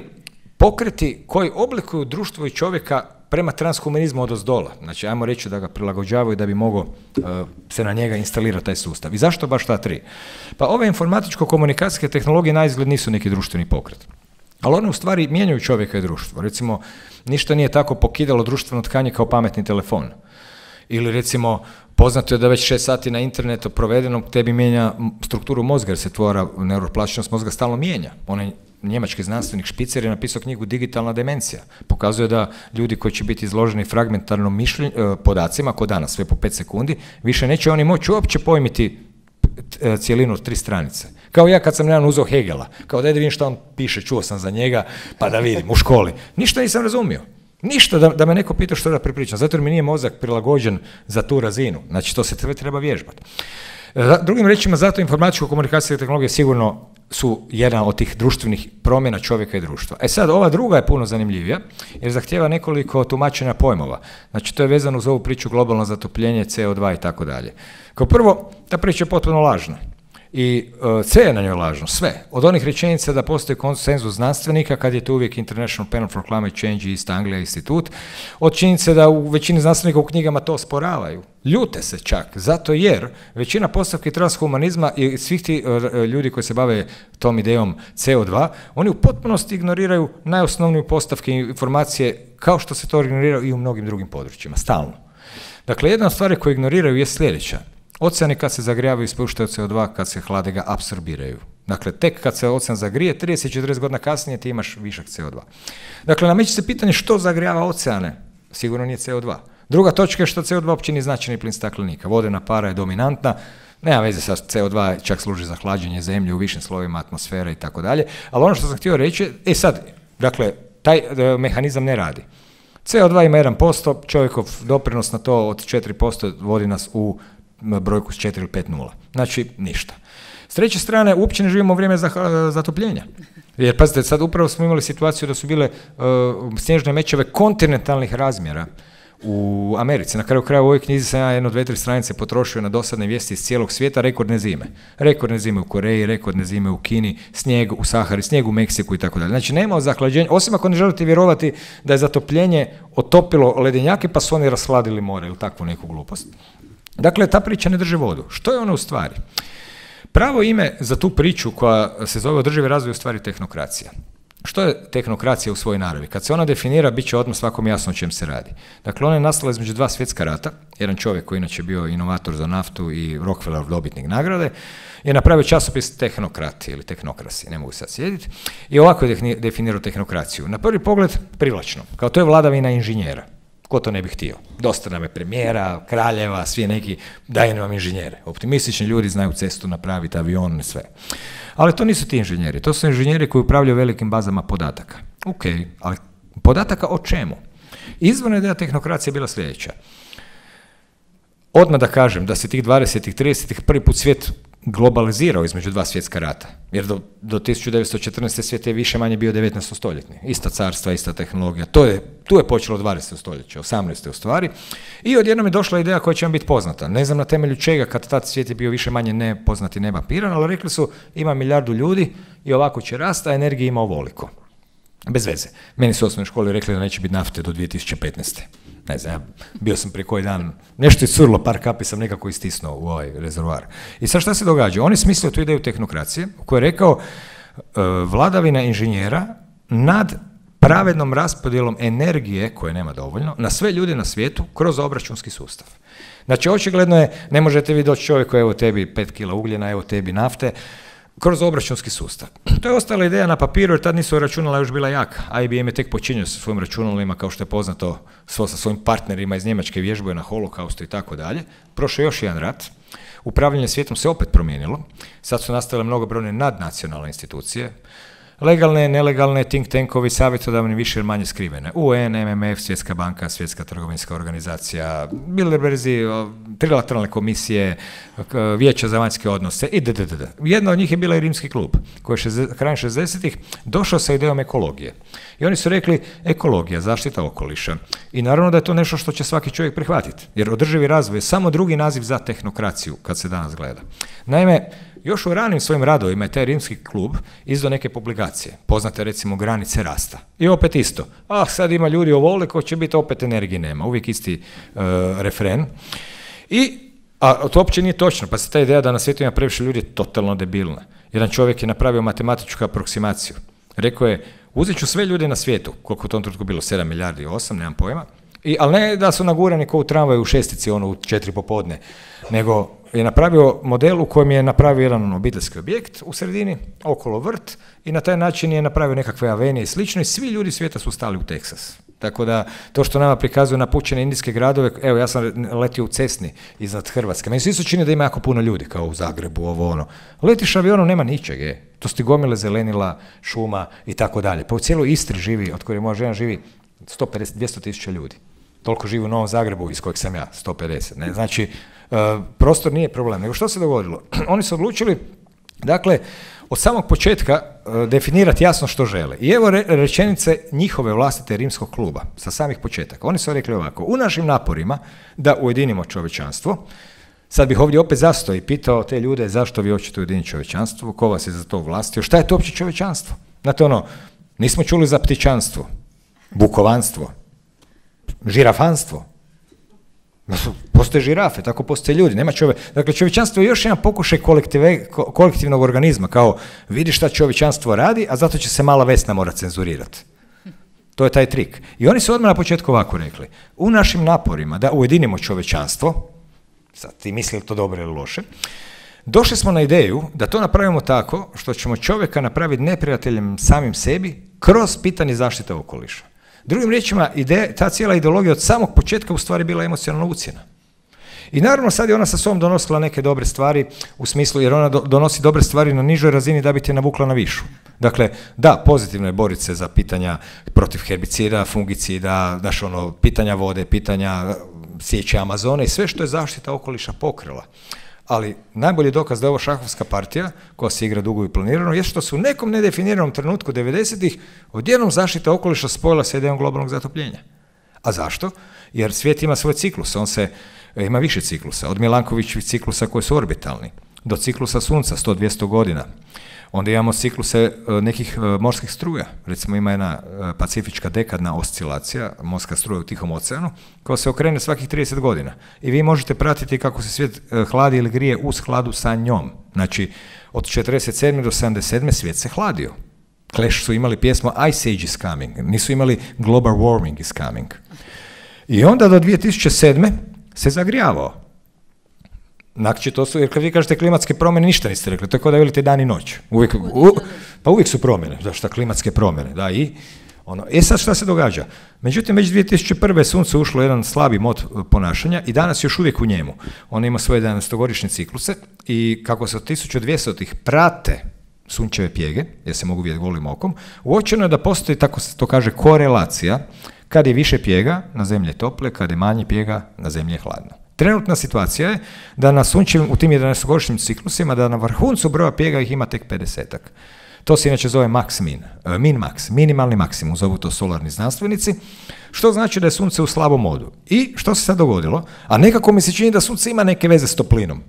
pokreti koji oblikuju društvo i čovjeka prema transhumanizmu odozdola. Znači, ajmo reći da ga prilagođavaju da bi mogao uh, se na njega instalirati taj sustav. I zašto baš ta tri? Pa ove informatičko-komunikacijske tehnologije naizgled nisu neki društveni pokret. Ali one u stvari mijenjaju čovjeka i društvo. Recimo, ništa nije tako pokidalo društveno tkanje kao pametni telefon. Ili recimo, poznato je da već šest sati na internetu provedenom tebi mijenja strukturu mozga, jer se tvora neuroplastičnost mozga stalno mijenja. Onaj njemački znanstvenik Špicer je napisao knjigu Digitalna demencija. Pokazuje da ljudi koji će biti izloženi fragmentarnom mišljenju, podacima, ko danas, sve po pet sekundi, više neće oni moći uopće pojmiti cijelinu od tri stranice. Kao ja kad sam jedan uzeo Hegela, kao da vidim što on piše, čuo sam za njega, pa da vidim u školi. Ništa nisam razumio. Ništa da, da me neko pita što da prepričam, zato jer mi nije mozak prilagođen za tu razinu. Znači, to se treba, treba vježbati. Drugim rečima, zato informatičko-komunikacijske tehnologije sigurno su jedna od tih društvenih promjena čovjeka i društva. E sad, ova druga je puno zanimljivija, jer zahtijeva nekoliko tumačenja pojmova. Znači, to je vezano uz ovu priču globalno zatopljenje, C O dva i tako dalje. Kao prvo, ta priča je potpuno lažna. I uh, sve je na njoj lažno, sve. Od onih rečenica da postoji konsenzus znanstvenika, kad je to uvijek International Panel for Climate Change i East Anglia institut, od činjenice da u većini znanstvenika u knjigama to osporavaju. Ljute se čak, zato jer većina postavki transhumanizma i svih ti uh, ljudi koji se bave tom idejom C O dva, oni u potpunosti ignoriraju najosnovniju postavke informacije, kao što se to ignorira i u mnogim drugim područjima, stalno. Dakle, jedna od stvari koje ignoriraju je sljedeća. Oceani kad se zagrijavaju ispuštaju C O dva, kad se hlade ga apsorbiraju. Dakle, tek kad se ocean zagrije, trideset do četrdeset godina kasnije ti imaš višak C O dva. Dakle, nameće se pitanje što zagrijava oceane, sigurno nije C O dva. Druga točka je što C O dva uopće nije značajni plin staklenika. Vodena para je dominantna, nema veze sa C O dva, čak služi za hlađenje zemlje u višim slovima atmosfere i tako dalje. Ali ono što sam htio reći, e sad, dakle, taj e, mehanizam ne radi. C O dva ima jedan posto, čovjekov doprinos na to od četiri posto vodi nas u brojku s četiri ili pet nula. Znači, ništa. S treće strane, uopće ne živimo u vrijeme zatopljenja. Jer, pazite, sad upravo smo imali situaciju da su bile uh, snježne mećave kontinentalnih razmjera u Americi. Na kraju kraja u ovoj knjizi sam ja jedno, dve, tri stranice potrošio na dosadne vijesti iz cijelog svijeta, rekordne zime. Rekordne zime u Koreji, rekordne zime u Kini, snijeg u Sahari, snijeg u Meksiku i tako dalje. Znači, nema zahlađenja, osim ako ne želite vjerovati da je zatopljenje otopilo ledenjake pa su oni rashladili more ili takvu neku glupost. Dakle, ta priča ne drži vodu. Što je ona u stvari? Pravo ime za tu priču koja se zove održivi razvoj u stvari tehnokracija. Što je tehnokracija u svojoj naravi? Kad se ona definira, bit će odmah svakom jasno o čem se radi. Dakle, ona je nastala između dva svjetska rata. Jedan čovjek koji inače bio inovator za naftu i Rockefeller dobitnik nagrade je napravio časopis Tehnokrati ili Tehnokrasi, ne mogu sad sjediti, i ovako je definirao tehnokraciju. Na prvi pogled privlačno, kao to je vladavina inženjera. Ko to ne bi htio? Dosta nam je premijera, kraljeva, svi neki, daj nam inženjere. Optimistični ljudi znaju cestu napraviti, avion i sve. Ali to nisu ti inženjeri, to su inženjeri koji upravljaju velikim bazama podataka. Ok, ali podataka o čemu? Izvorna ideja tehnokracije je bila sljedeća. Odmah da kažem da se tih dvadesetih, tridesetih prvi put svijet globalizirao između dva svjetska rata, jer do, do tisuću devetsto četrnaeste. svijet je više manje bio devetnaestostoljetni. Ista carstva, ista tehnologija. To je, tu je počelo dvadeseto stoljeće, osamnaesto u stvari. I odjednom je došla ideja koja će vam biti poznata. Ne znam na temelju čega, kad tad svijet je bio više manje nepoznat i nemapiran, ali rekli su ima milijardu ljudi i ovako će rasti, a energije ima ovoliko. Bez veze. Meni su u osnovnoj školi rekli da neće biti nafte do dvije tisuće petnaeste. Ne znam, bio sam prije koji dan, nešto je curlo, par kapi sam nekako istisnuo u ovaj rezervoar. I sad šta se događa? Oni smislili tu ideju tehnokracije, u kojoj je rekao uh, vladavina inženjera nad pravednom raspodjelom energije, koje nema dovoljno, na sve ljude na svijetu kroz obračunski sustav. Znači, očigledno je, ne možete vi doći čovjeku, evo tebi pet kila ugljena, evo tebi nafte, kroz obračunski sustav. To je ostala ideja na papiru, jer tad nisu računala još bila jaka. I B M je tek počinio sa svojim računalima, kao što je poznato, svo sa svojim partnerima iz Njemačke vježbuje na holokaustu i tako dalje. Prošao još jedan rat. Upravljanje svijetom se opet promijenilo. Sad su nastale mnogobrojne nadnacionalne institucije. Legalne, nelegalne, think tankovi, savjetodavni, više ili manje skrivene. U N, M M F, Svjetska banka, Svjetska trgovinska organizacija, Bilderberzi, trilateralne komisije, vijeća za vanjske odnose itd. Jedna od njih je bila i Rimski klub, koji je krajem šezdesetih došao sa idejom ekologije. I oni su rekli, ekologija, zaštita okoliša. I naravno da je to nešto što će svaki čovjek prihvatiti, jer održivi razvoj je samo drugi naziv za tehnokraciju, kad se danas gleda. Naime, još u ranim svojim radovima je taj Rimski klub izdao neke publikacije, poznate recimo Granice rasta. I opet isto, ah sad ima ljudi ovoliko, će biti opet energije nema, uvijek isti uh, refren. I, a to uopće nije točno, pa se ta ideja da na svijetu ima previše ljudi je totalno debilna. Jedan čovjek je napravio matematičku aproksimaciju. Rekao je, uzet ću sve ljude na svijetu, koliko u tom trenutku bilo, sedam milijardi i osam, nemam pojma, I, ali ne da su nagurani kao u tramvaju u šestici, ono u četiri popodne, nego je napravio model u kojem je napravio jedan obiteljski objekt u sredini, okolo vrt, i na taj način je napravio nekakve avenije i slično i svi ljudi svijeta su stali u Teksas. Tako da, to što nama prikazuju napućene indijske gradove, evo ja sam letio u Cesni iznad Hrvatske, meni se isto čini da ima jako puno ljudi, kao u Zagrebu, ovo ono. Letiš avionom, nema ničeg, je. To su ti gomile zelenila, šuma i tako dalje. Pa u cijeloj Istri živi, od koje moja žena živi, sto pedeset do dvjesto tisuća ljudi. Toliko živi u Novom Zagrebu, iz kojeg sam ja, sto pedeset. Ne? Znači, uh, prostor nije problem. Nego što se dogodilo? Oni su odlučili, dakle, od samog početka uh, definirati jasno što žele. I evo re, rečenice njihove vlastite Rimskog kluba, sa samih početaka. Oni su rekli ovako, u našim naporima da ujedinimo čovječanstvo, Sad bih ovdje opet zastao i pitao te ljude zašto vi hoćete ujediniti čovječanstvo, ko vas je za to vlastio, šta je to uopće čovječanstvo? Znate ono, nismo čuli za ptičanstvo, bukovanstvo, žirafanstvo. Postoje žirafe, tako postoje ljudi, nema čovjek. Dakle, čovječanstvo je još jedan pokušaj kolektivnog organizma, kao vidi šta čovječanstvo radi, a zato će se mala Vesna mora cenzurirati. To je taj trik. I oni su odmah na početku ovako rekli, u našim naporima da ujedinimo čovječanstvo, sad ti misli to dobro ili loše, došli smo na ideju da to napravimo tako što ćemo čovjeka napraviti neprijateljem samim sebi kroz pitanje zaštite okoliša. Drugim riječima, ide, ta cijela ideologija od samog početka u stvari bila emocionalna ucjena. I naravno sad je ona sa sobom donosila neke dobre stvari u smislu, jer ona do, donosi dobre stvari na nižoj razini da bi te navukla na višu. Dakle, da, pozitivno je boriti se za pitanja protiv herbicida, fungicida, znaš ono, pitanja vode, pitanja sječe Amazone i sve što je zaštita okoliša pokrila. Ali najbolji dokaz da je ovo šahovska partija, koja se igra dugo i planirano, je što su u nekom nedefiniranom trenutku devedesetih odjednom zaštita okoliša spojila sa idejom globalnog zatopljenja. A zašto? Jer svijet ima svoj ciklus, on se ima više ciklusa, od Milankovićevih ciklusa koji su orbitalni, do ciklusa Sunca, sto do dvjesto godina. Onda imamo cikluse nekih morskih struja, recimo ima jedna pacifička dekadna oscilacija, morska struja u Tihom oceanu, koja se okrene svakih trideset godina. I vi možete pratiti kako se svijet hladi ili grije u skladu sa njom. Znači, od četrdeset sedme do sedamdeset sedme svijet se hladio. Clash su imali pjesmu Ice Age is coming, nisu imali Global warming is coming. I onda do dvije tisuće sedme se zagrijavao. Znači, to su, jer kad vi kažete klimatske promjene, ništa niste rekli, to je kao da velite dan i noć. Uvijek, u, pa uvijek su promjene, da šta klimatske promjene, da i ono. E sad šta se događa? Međutim, već dvije tisuće prve sunce ušlo u jedan slabi mod ponašanja i danas još uvijek u njemu. Ono ima svoje jedanaestogodišnje cikluse i kako se od tisuću dvjesetih prate sunčeve pjege, jer se mogu vidjeti golim okom, uočeno je da postoji, tako se to kaže, korelacija, kad je više pjega, na zemlji je tople, kad je manje pjega, na zemlji je hladno. Trenutna situacija je da na sunčevim, u tim jedanaestogodišnjim ciklusima, da na vrhuncu broja pjega ih ima tek pedesetak. To se inače zove max-min, min-max, minimalni maksimum, zovu to solarni znanstvenici, što znači da je sunce u slabom modu. I što se sad dogodilo? A nekako mi se čini da sunce ima neke veze s toplinom.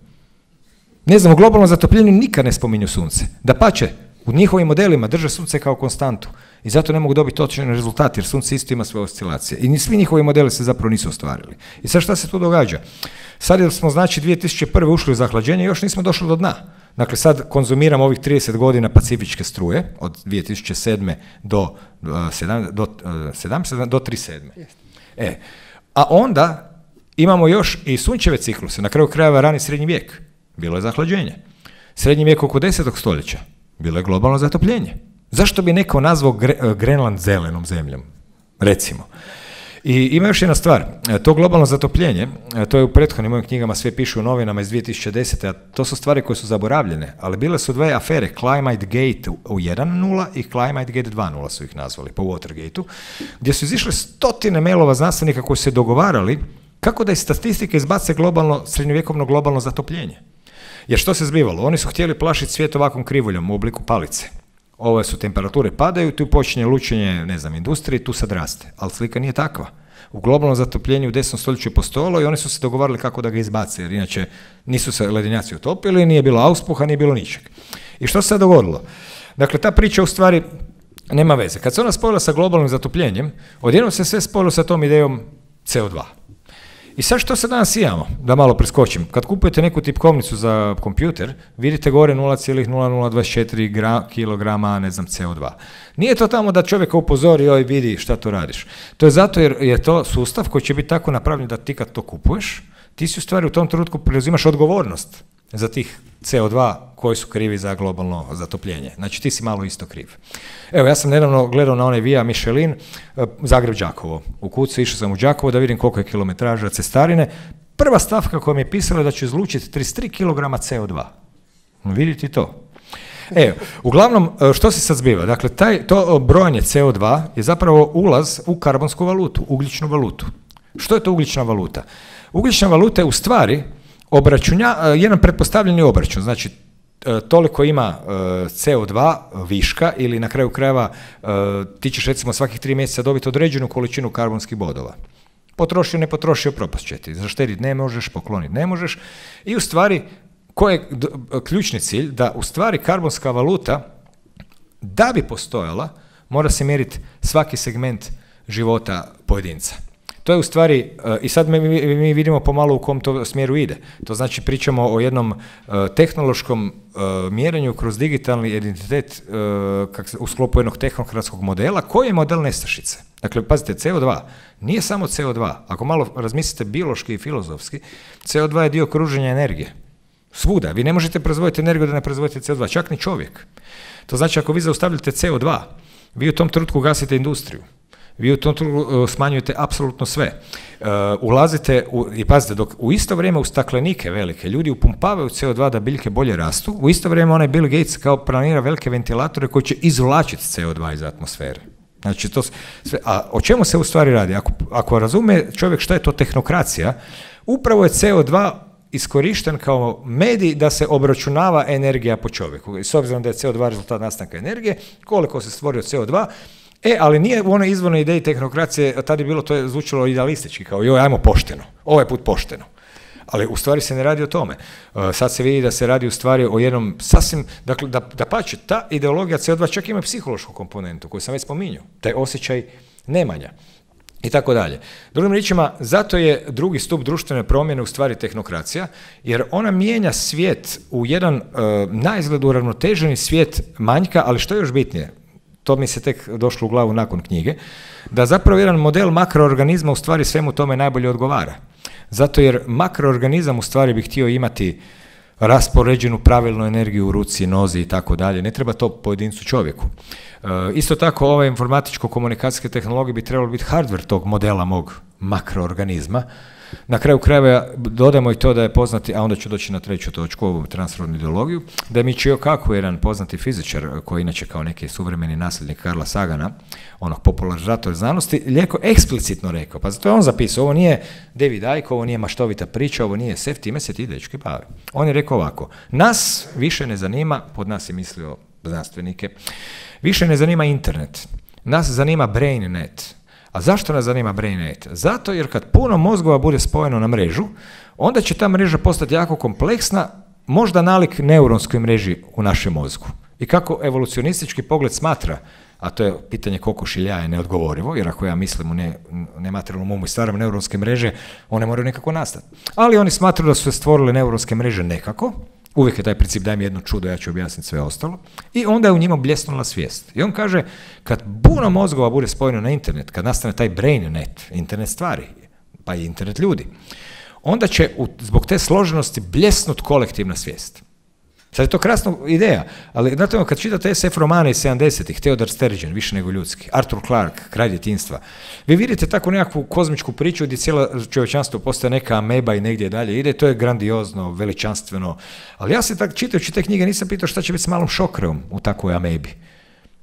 Ne znam, u globalnom zatopljenju nikad ne spominju sunce. Dapače, u njihovim modelima drže sunce kao konstantu i zato ne mogu dobiti točan rezultat, jer sunce isto ima svoje oscilacije. I svi njihovi modeli se zapravo nisu ostvarili. I sad šta se tu događa? Sad smo, znači, dvije tisuće prve ušli u zahlađenje i još nismo došli do dna. Dakle, sad konzumiramo ovih trideset godina pacifičke struje, od dvije tisuće sedme do, do, do trideset sedme. E, a onda imamo još i sunčeve cikluse, na kraju krajeva rani srednji vijek. Bilo je zahlađenje. Srednji vijek oko desetog stoljeća. Bilo je globalno zatopljenje. Zašto bi neko nazvao Gre- Grenland zelenom zemljom? Recimo. I ima još jedna stvar. To globalno zatopljenje, to je u prethodnim mojim knjigama, sve piše u novinama iz dvije tisuće desete. A to su stvari koje su zaboravljene, ali bile su dve afere, Climate Gate u jedan nula i Climate Gate dva nula su ih nazvali, po Watergateu, gdje su izišle stotine mailova znanstvenika koji su se dogovarali kako da iz statistike izbace globalno, srednjovjekovno globalno zatopljenje. Jer što se zbivalo? Oni su htjeli plašiti svijet ovakvom krivoljom u obliku palice. Ove su temperature padaju, tu počinje lučenje, ne znam, industrije, tu sad raste. Ali slika nije takva. U globalnom zatopljenju u desetom stoljeću je postojalo i oni su se dogovarali kako da ga izbace, jer inače nisu se ledenjaci utopili, nije bilo auspuha, nije bilo ničeg. I što se sad dogodilo? Dakle, ta priča u stvari nema veze. Kad se ona spojila sa globalnim zatopljenjem, odjednom se sve spojilo sa tom idejom C O dva. I sad što se danas imamo, da malo preskočim, kad kupujete neku tipkovnicu za kompjuter, vidite gore nula zarez nula nula dvadeset četiri kilograma, ne znam, C O dva. Nije to tamo da čovjeka upozori, oj vidi šta to radiš. To je zato jer je to sustav koji će biti tako napravljen da ti kad to kupuješ, ti si u stvari u tom trenutku preuzimaš odgovornost za tih C O dva koji su krivi za globalno zatopljenje. Znači ti si malo isto kriv. Evo, ja sam nedavno gledao na onaj Via Michelin, Zagreb-Đakovo. U kucu išao sam u Đakovo da vidim koliko je kilometraža cestarine. Prva stavka koja mi je pisala da ću izlučiti trideset tri kilograma C O dva. Vidite to. Evo, uglavnom, što se sad zbiva? Dakle, taj, to brojanje C O dva je zapravo ulaz u karbonsku valutu, ugljičnu valutu. Što je to ugljična valuta? Ugljična valuta je u stvari obračunja, jedan pretpostavljeni obračun, znači toliko ima C O dva viška ili na kraju krajeva ti ćeš recimo svakih tri mjeseca dobiti određenu količinu karbonskih bodova. Potrošio, ne potrošio, propast će ti. Zaštediti ne možeš, pokloniti ne možeš. I u stvari, koji je ključni cilj? Da u stvari karbonska valuta, da bi postojala, mora se mjeriti svaki segment života pojedinca. To je u stvari, i sad mi, mi vidimo pomalo u kom to smjeru ide. To znači pričamo o jednom uh, tehnološkom uh, mjerenju kroz digitalni identitet uh, kak, u sklopu jednog tehnokratskog modela. Koji je model nestašice? Dakle, pazite, C O dva nije samo C O dva. Ako malo razmislite biološki i filozofski, C O dva je dio kruženja energije. Svuda. Vi ne možete proizvoditi energiju da ne proizvodite C O dva, čak ni čovjek. To znači, ako vi zaustavljate C O dva, vi u tom trenutku gasite industriju. Vi u tom trenutku smanjujete apsolutno sve. Uh, ulazite, u, i pazite, dok u isto vrijeme u staklenike velike ljudi upumpavaju C O dva da biljke bolje rastu, u isto vrijeme onaj Bill Gates kao planira velike ventilatore koji će izvlačiti C O dva iz atmosfere. Znači, to sve, a o čemu se u stvari radi? Ako, ako razume čovjek šta je to tehnokracija, upravo je C O dva iskorišten kao medij da se obračunava energija po čovjeku. I s obzirom da je C O dva rezultat nastanka energije, koliko se stvorio C O dva, e, ali nije u onoj izvornoj ideji tehnokracije, tada je bilo, to je zvučalo idealistički, kao joj, ajmo pošteno, ovaj put pošteno. Ali u stvari se ne radi o tome. Uh, sad se vidi da se radi u stvari o jednom sasvim, dakle, da, da pače, ta ideologija C O dva čak ima psihološku komponentu, koju sam već spominjao, taj osjećaj nemanja. I tako dalje. Drugim riječima, zato je drugi stup društvene promjene u stvari tehnokracija, jer ona mijenja svijet u jedan uh, naizgled uravnoteženi svijet manjka, ali što je još bitnije, to mi se tek došlo u glavu nakon knjige, da zapravo jedan model makroorganizma u stvari svemu tome najbolje odgovara. Zato jer makroorganizam u stvari bi htio imati raspoređenu pravilnu energiju u ruci, nozi i tako dalje. Ne treba to pojedincu čovjeku. E, isto tako, ove informatičko-komunikacijske tehnologije bi trebalo biti hardware tog modela mog makroorganizma. Na kraju krajeva dodamo i to da je poznati, a onda ću doći na treću točku, ovu transrodnu ideologiju, da je Michio Kaku, jedan poznati fizičar, koji inače kao neki suvremeni nasljednik Karla Sagana, onog popularizatora znanosti, lijeko eksplicitno rekao, pa zato je on zapisao, ovo nije David Icke, ovo nije maštovita priča, ovo nije sef, time se ti dečki bavi. On je rekao ovako, nas više ne zanima, pod nas je mislio znanstvenike, više ne zanima internet, nas zanima BrainNet. A zašto nas zanima BrainNet? Zato jer kad puno mozgova bude spojeno na mrežu, onda će ta mreža postati jako kompleksna, možda nalik neuronskoj mreži u našem mozgu. I kako evolucionistički pogled smatra, a to je pitanje kokoš ili jaje neodgovorivo, jer ako ja mislim u ne, nematerijalnom umu i stvaram neuronske mreže, one moraju nekako nastati. Ali oni smatraju da su se stvorile neuronske mreže nekako, uvijek je taj princip daj mi jedno čudo, ja ću objasniti sve ostalo, i onda je u njima bljesnula svijest. I on kaže, kad puno mozgova bude spojeno na internet, kad nastane taj BrainNet, internet stvari, pa i internet ljudi, onda će u, zbog te složenosti bljesnut kolektivna svijest. Sad je to krasna ideja, ali znate, kad čitate es ef romane iz sedamdesetih, Theodore Sturgeon, više nego ljudski, Arthur Clarke, Kralj djetinjstva, vi vidite takvu nekakvu kozmičku priču gdje cijelo čovječanstvo postaje neka ameba i negdje dalje ide, to je grandiozno, veličanstveno, ali ja se tak čitajući te knjige nisam pitao šta će biti s malom šokreom u takvoj amebi.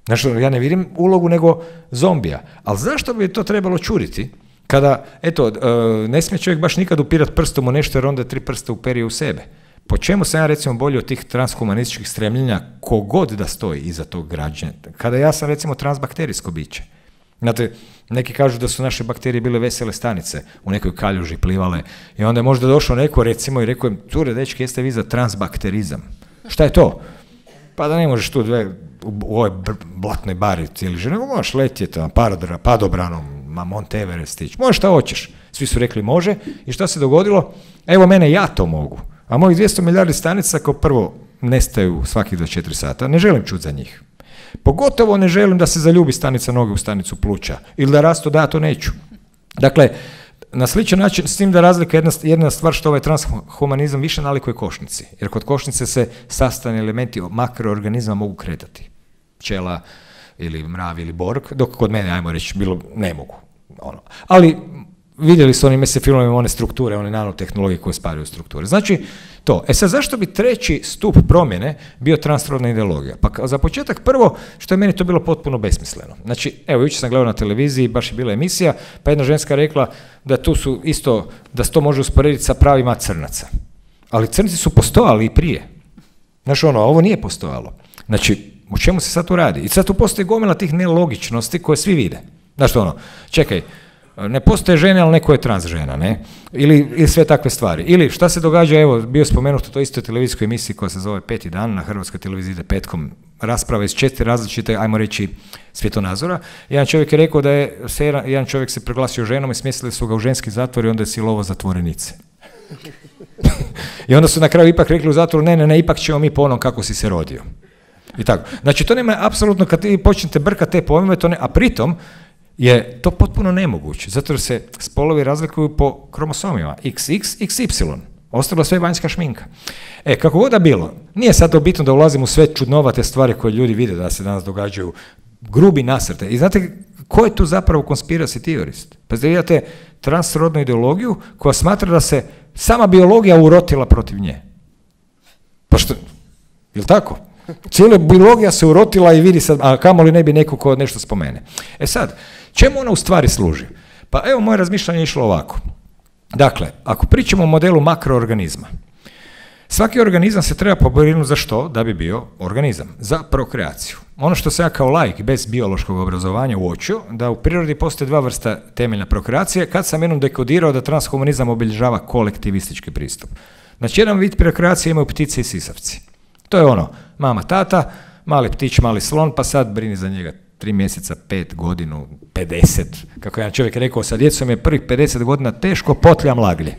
Znači, ja ne vidim ulogu nego zombija, ali zašto bi to trebalo čuditi? Kada, eto, ne smije čovjek baš nikad upirat prstom u nešto jer onda tri prsta uperije u sebe. Po čemu sam ja recimo bolji od tih transhumanističkih stremljenja kogod da stoji iza tog građenja? Kada ja sam recimo transbakterijsko biće. Znate, neki kažu da su naše bakterije bile vesele stanice, u nekoj kaljuži plivale i onda je možda došao neko recimo i rekao im, cure, dečki, jeste vi za transbakterizam? Šta je to? Pa da ne možeš tu dve, u ovoj blatnoj bari cijeli život, nego možeš letjeti na padobranom, ma Mount Everest stići, možeš šta hoćeš. Svi su rekli može i šta se dogodilo? Evo mene, ja to mogu. A mojih dvjesto milijardi stanica kao prvo nestaju svakih dvadeset četiri sata, ne želim čuti za njih. Pogotovo ne želim da se zaljubi stanica noge u stanicu pluća ili da rastu, da ja to neću. Dakle, na sličan način, s tim da razlika jedna, jedna stvar što ovaj transhumanizam više nalikuje košnici, jer kod košnice se sastavni elementi makroorganizma mogu kretati. Pčela ili mrav ili borg, dok kod mene, ajmo reći, bilo ne mogu. Ono. Ali vidjeli su oni mesec filmovima one strukture, one nanotehnologije koje spadaju u strukture. Znači, to. E sad, zašto bi treći stup promjene bio transrodna ideologija? Pa za početak prvo, što je meni to bilo potpuno besmisleno. Znači, evo, jučer sam gledao na televiziji, baš je bila emisija, pa jedna ženska rekla da tu su isto, da se to može usporediti sa pravima crnaca. Ali crnci su postojali i prije. Znači, ono, ovo nije postojalo. Znači, o čemu se sad tu radi? I sad tu postoji gomila tih nelogičnosti koje svi vide. Znači, ono, čekaj, Ne postoje žene, ali neko je trans žena, ne? Ili, ili sve takve stvari. Ili šta se događa, evo, bio spomenuto to isto televizijskoj emisiji koja se zove Peti dan, na Hrvatskoj televiziji ide petkom, rasprava iz četiri različite, ajmo reći, svjetonazora. Jedan čovjek je rekao da je, se, jedan čovjek se proglasio ženom i smjestili su ga u ženski zatvor i onda je silovao zatvorenice. I onda su na kraju ipak rekli u zatvoru, ne, ne, ne, ipak ćemo mi po onom kako si se rodio. I tako. Znači, to nema apsolutno, kad vi počnete brkati te pojmove, to ne, a pritom je to potpuno nemoguće, zato jer se spolovi razlikuju po kromosomima, iks iks, iks ipsilon, ostalo sve vanjska šminka. E, kako god da bilo, nije sad to bitno da ulazim u sve čudnovate stvari koje ljudi vide da se danas događaju, grubi nasrte. I znate, ko je tu zapravo conspiracy theorist? Pa da vidite transrodnu ideologiju koja smatra da se sama biologija urotila protiv nje. Pa što, je li tako? Cijela biologija se urotila i vidi sad, a kamoli ne bi neko ko nešto spomene. E sad, čemu ona u stvari služi? Pa evo, moje razmišljanje je išlo ovako. Dakle, ako pričamo o modelu makroorganizma, svaki organizam se treba pobrinuti za što? Da bi bio organizam. Za prokreaciju. Ono što se ja kao laik bez biološkog obrazovanja uočio, da u prirodi postoje dva vrsta temeljna prokreacije, kad sam jednom dekodirao da transhumanizam obilježava kolektivistički pristup. Znači, jedan vid prokreacije imaju ptice i sisavci. To je ono, mama, tata, mali ptić, mali slon, pa sad brini za njega tri mjeseca, pet, godinu, pedeset. Kako jedan čovjek rekao, sa djecom je prvih pedeset godina teško potljam laglje.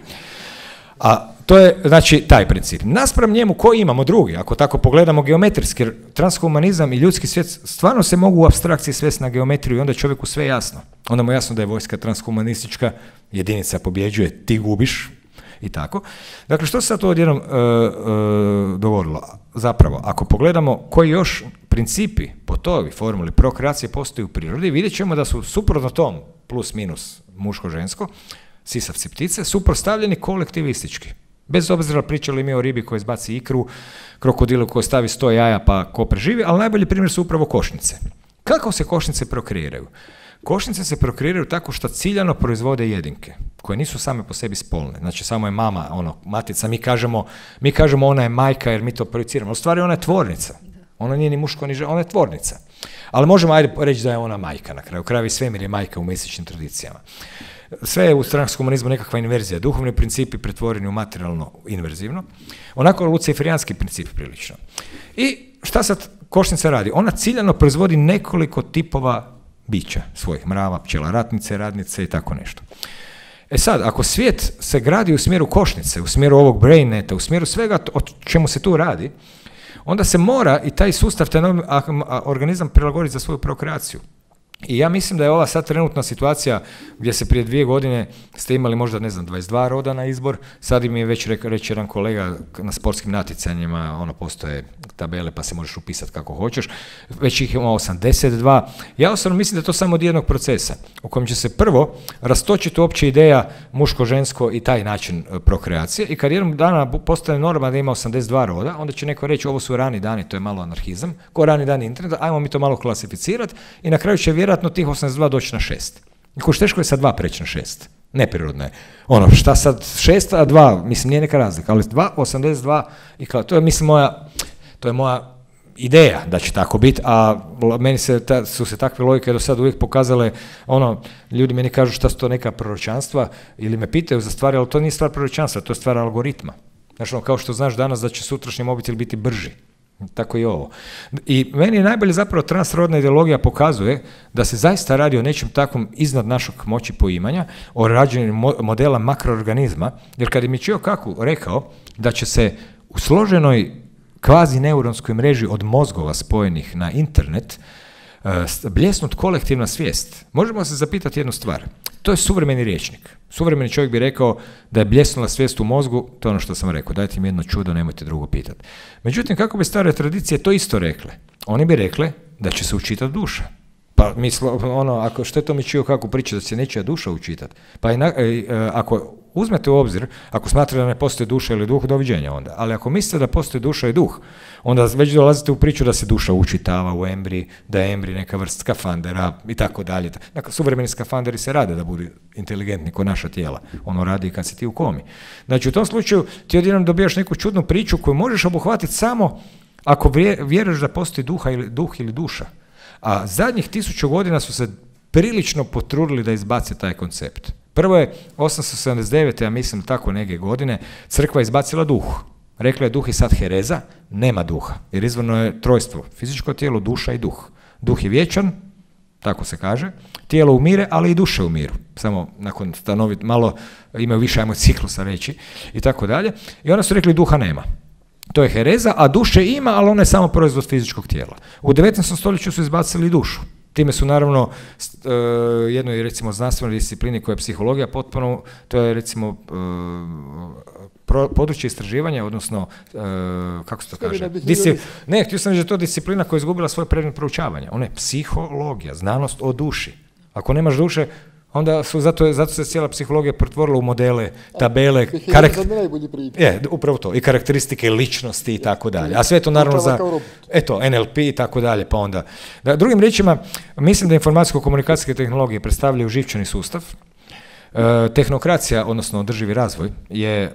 A to je, znači, taj princip. Naspram njemu koji imamo drugi, ako tako pogledamo geometrijski, jer transhumanizam i ljudski svijet stvarno se mogu u apstrakciji svesti na geometriju i onda je čovjeku sve jasno. Onda mu je jasno da je vojska transhumanistička, jedinica pobjeđuje, ti gubiš i tako. Dakle, što se sad to odjednom uh, uh, dogodilo? Zapravo, ako pogledamo koji još principi po toj formuli prokreacije postoji u prirodi, vidjet ćemo da su suprotno tom plus minus muško-žensko, sisavci ptice, suprotstavljeni kolektivistički. Bez obzira pričali mi o ribi koja izbaci ikru, krokodilu koji stavi sto jaja pa ko preživi, ali najbolji primjer su upravo košnice. Kako se košnice prokreiraju? Košnice se prokreiraju tako što ciljano proizvode jedinke, koje nisu same po sebi spolne. Znači, samo je mama, ono, matica, mi kažemo, mi kažemo ona je majka jer mi to projiciramo. U stvari ona je tvornica. Ona nije ni muško ni žena, ona je tvornica. Ali možemo ajde reći da je ona majka na kraju. Krajevi svemir je majka u mesičnim tradicijama. Sve je u transhumanizmu nekakva inverzija. Duhovni principi pretvoreni u materijalno inverzivno. Onako luciferijanski princip prilično. I šta sad košnica radi? Ona ciljano proizvodi nekoliko tipova bića svojih, mrava, pčela, ratnice, radnice i tako nešto. E sad, ako svijet se gradi u smjeru košnice, u smjeru ovog brainneta, u smjeru svega o čemu se tu radi, onda se mora i taj sustav, taj organizam prilagoditi za svoju prokreaciju. I ja mislim da je ova sad trenutna situacija gdje se prije dvije godine ste imali možda, ne znam, dvadeset dva roda na izbor, sad im je već reći jedan kolega na sportskim natjecanjima, ono, postoje tabele pa se možeš upisati kako hoćeš, već ih ima osamdeset dva. Ja osobno mislim da je to samo od jednog procesa, u kojem će se prvo rastočiti uopće ideja muško-žensko i taj način prokreacije i kad jednog dana postane norma da ima osamdeset dva roda, onda će neko reći ovo su rani dani, to je malo anarhizam, ko rani dani interneta, ajmo mi to malo klasificirati i na kraju će vjerojatno tih osamdeset dva doći na šest. Koš teško je sa dva preći na šest. Neprirodno je. Ono, šta sad šest, a dva, mislim, nije neka razlika, ali dva, osamdeset dva, i kao, to je, mislim, moja, to je moja ideja da će tako biti, a meni se, ta, su se takve logike do sad uvijek pokazale, ono, ljudi meni kažu šta su to neka proročanstva, ili me pitaju za stvari, ali to nije stvar proročanstva, to je stvar algoritma. Znači, ono, kao što znaš danas da će sutrašnji mobitel biti brži. Tako i ovo. I meni je najbolje zapravo transrodna ideologija pokazuje da se zaista radi o nečem takvom iznad našeg moći poimanja, o rađenju modela makroorganizma, jer kad je Michio Kaku rekao da će se u složenoj kvazi neuronskoj mreži od mozgova spojenih na internet bljesnut kolektivna svijest, možemo se zapitati jednu stvar. To je suvremeni rječnik. Suvremeni čovjek bi rekao da je bljesnula svijest u mozgu, to je ono što sam rekao, dajte mi jedno čudo, nemojte drugo pitati. Međutim, kako bi stare tradicije to isto rekle? Oni bi rekle da će se učitati duša. Pa mislo, ono, ako što je to Michio Kaku priča da će se nečija duša učitati? Pa i na, e, ako uzmete u obzir, ako smatrate da ne postoji duša ili duh, doviđenja onda. Ali ako mislite da postoji duša i duh, onda već dolazite u priču da se duša učitava u embriji, da je embrij neka vrsta skafandera i tako dalje. Dakle, suvremeni skafanderi se rade da budu inteligentni ko naša tijela. Ono radi i kad si ti u komi. Znači, u tom slučaju ti odjednom dobijaš neku čudnu priču koju možeš obuhvatiti samo ako vjeruješ da postoji duha ili, duh ili duša. A zadnjih tisuću godina su se prilično potrudili da izbace taj koncept. Prvo je osamsto sedamdeset devete. ja mislim tako neke godine, crkva izbacila duh. Rekla je duh je sad hereza, nema duha, jer izvorno je trojstvo, fizičko tijelo, duša i duh. Duh je vječan, tako se kaže, tijelo umire, ali i duša umiru. Samo nakon stanovit, malo imaju više, ajmo ciklusa reći, i tako dalje. I onda su rekli duha nema. To je hereza, a duše ima, ali ona je samo proizvod fizičkog tijela. U devetnaestom stoljeću su izbacili dušu. Time su naravno uh, jednoj recimo znanstvenoj disciplini koja je psihologija potpuno, to je recimo uh, pro, područje istraživanja, odnosno uh, kako se to kaže? Disci, ne, htio sam reći da je to disciplina koja je izgubila svoje predmet proučavanja. Ona je psihologija, znanost o duši. Ako nemaš duše, onda su, zato, zato se cijela psihologija pretvorila u modele, tabele, karak... je, upravo to, i karakteristike ličnosti i tako dalje. A sve to naravno za, eto, en el pe i tako dalje, pa onda. Da, drugim riječima, mislim da informacijsko-komunikacijske tehnologije predstavljaju živčani sustav. E, tehnokracija, odnosno održivi razvoj, je e,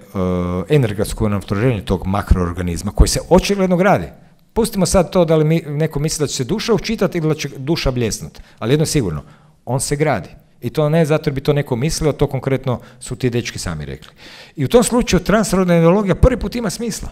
energetsko natvorenje tog makroorganizma koji se očigledno gradi. Pustimo sad to da li mi, neko misli da će se duša učitati ili da će duša bljesnuti, ali jedno je sigurno, on se gradi. I to ne zato jer bi to neko mislio, to konkretno su ti dečki sami rekli. I u tom slučaju transrodna ideologija prvi put ima smisla.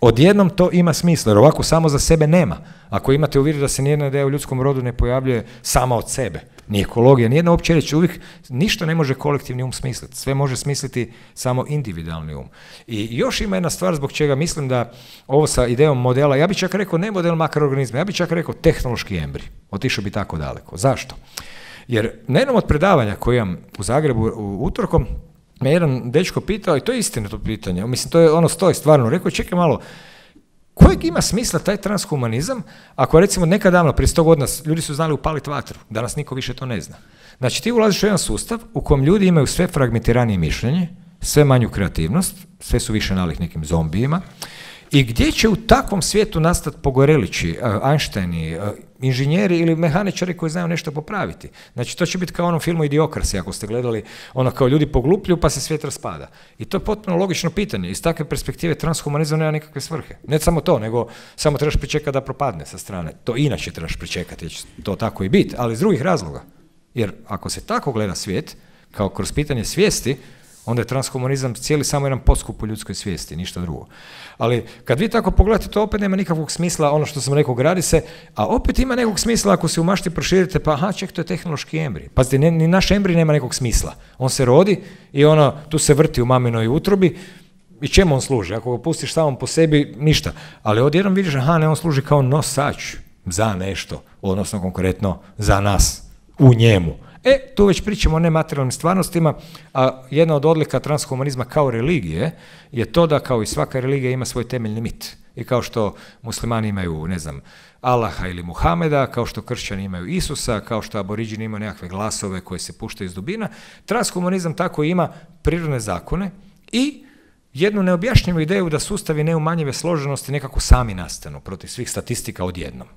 Odjednom to ima smisla, jer ovako samo za sebe nema. Ako imate u vidu da se nijedna ideja u ljudskom rodu ne pojavljuje sama od sebe, ni ekologija, nijedna uopće reći, uvijek ništa ne može kolektivni um smisliti, sve može smisliti samo individualni um. I još ima jedna stvar zbog čega mislim da ovo sa idejom modela, ja bih čak rekao ne model makroorganizma, ja bih čak rekao tehnološki embrij, otišao bi tako daleko. Zašto? Jer na jednom od predavanja koji imam u Zagrebu u utorkom, me jedan dečko pitao, i to je istinito pitanje, mislim, to je ono stoji stvarno, rekao, čekaj malo, kojeg ima smisla taj transhumanizam, ako recimo nekad davno, prije sto godina, ljudi su znali upaliti vatru, danas niko više to ne zna. Znači, ti ulaziš u jedan sustav u kojem ljudi imaju sve fragmentiranije mišljenje, sve manju kreativnost, sve su više nalik nekim zombijima, i gdje će u takvom svijetu nastati pogorelići, Einsteini, inženjeri ili mehaničari koji znaju nešto popraviti. Znači, to će biti kao u onom filmu Idiokrasi, ako ste gledali, ono kao ljudi poglupljuju pa se svijet raspada. I to je potpuno logično pitanje. Iz takve perspektive transhumanizam nema nikakve svrhe. Ne samo to, nego samo trebaš pričekati da propadne sa strane. To inače trebaš pričekati, jer će to tako i biti, ali iz drugih razloga. Jer ako se tako gleda svijet, kao kroz pitanje svijesti, onda je transhumanizam cijeli samo jedan podskup u ljudskoj svijesti, ništa drugo. Ali kad vi tako pogledate, to opet nema nikakvog smisla, ono što sam rekao, gradi se, a opet ima nekog smisla ako se u mašti proširite, pa aha, ček, to je tehnološki embrij. Pazite, ne, ni naš embrij nema nekog smisla. On se rodi i ono, tu se vrti u maminoj utrobi, i čemu on služi? Ako ga pustiš samom po sebi, ništa. Ali odjednom vidiš, aha, ne, on služi kao nosač za nešto, odnosno konkretno za nas, u njemu. E, tu već pričamo o nematerijalnim stvarnostima, a jedna od odlika transhumanizma kao religije je to da kao i svaka religija ima svoj temeljni mit. I kao što muslimani imaju, ne znam, Allaha ili Muhameda, kao što kršćani imaju Isusa, kao što aboriđini imaju nekakve glasove koje se puštaju iz dubina, transhumanizam tako ima prirodne zakone i jednu neobjašnjivu ideju da sustavi neumanjive složenosti nekako sami nastanu protiv svih statistika odjednom.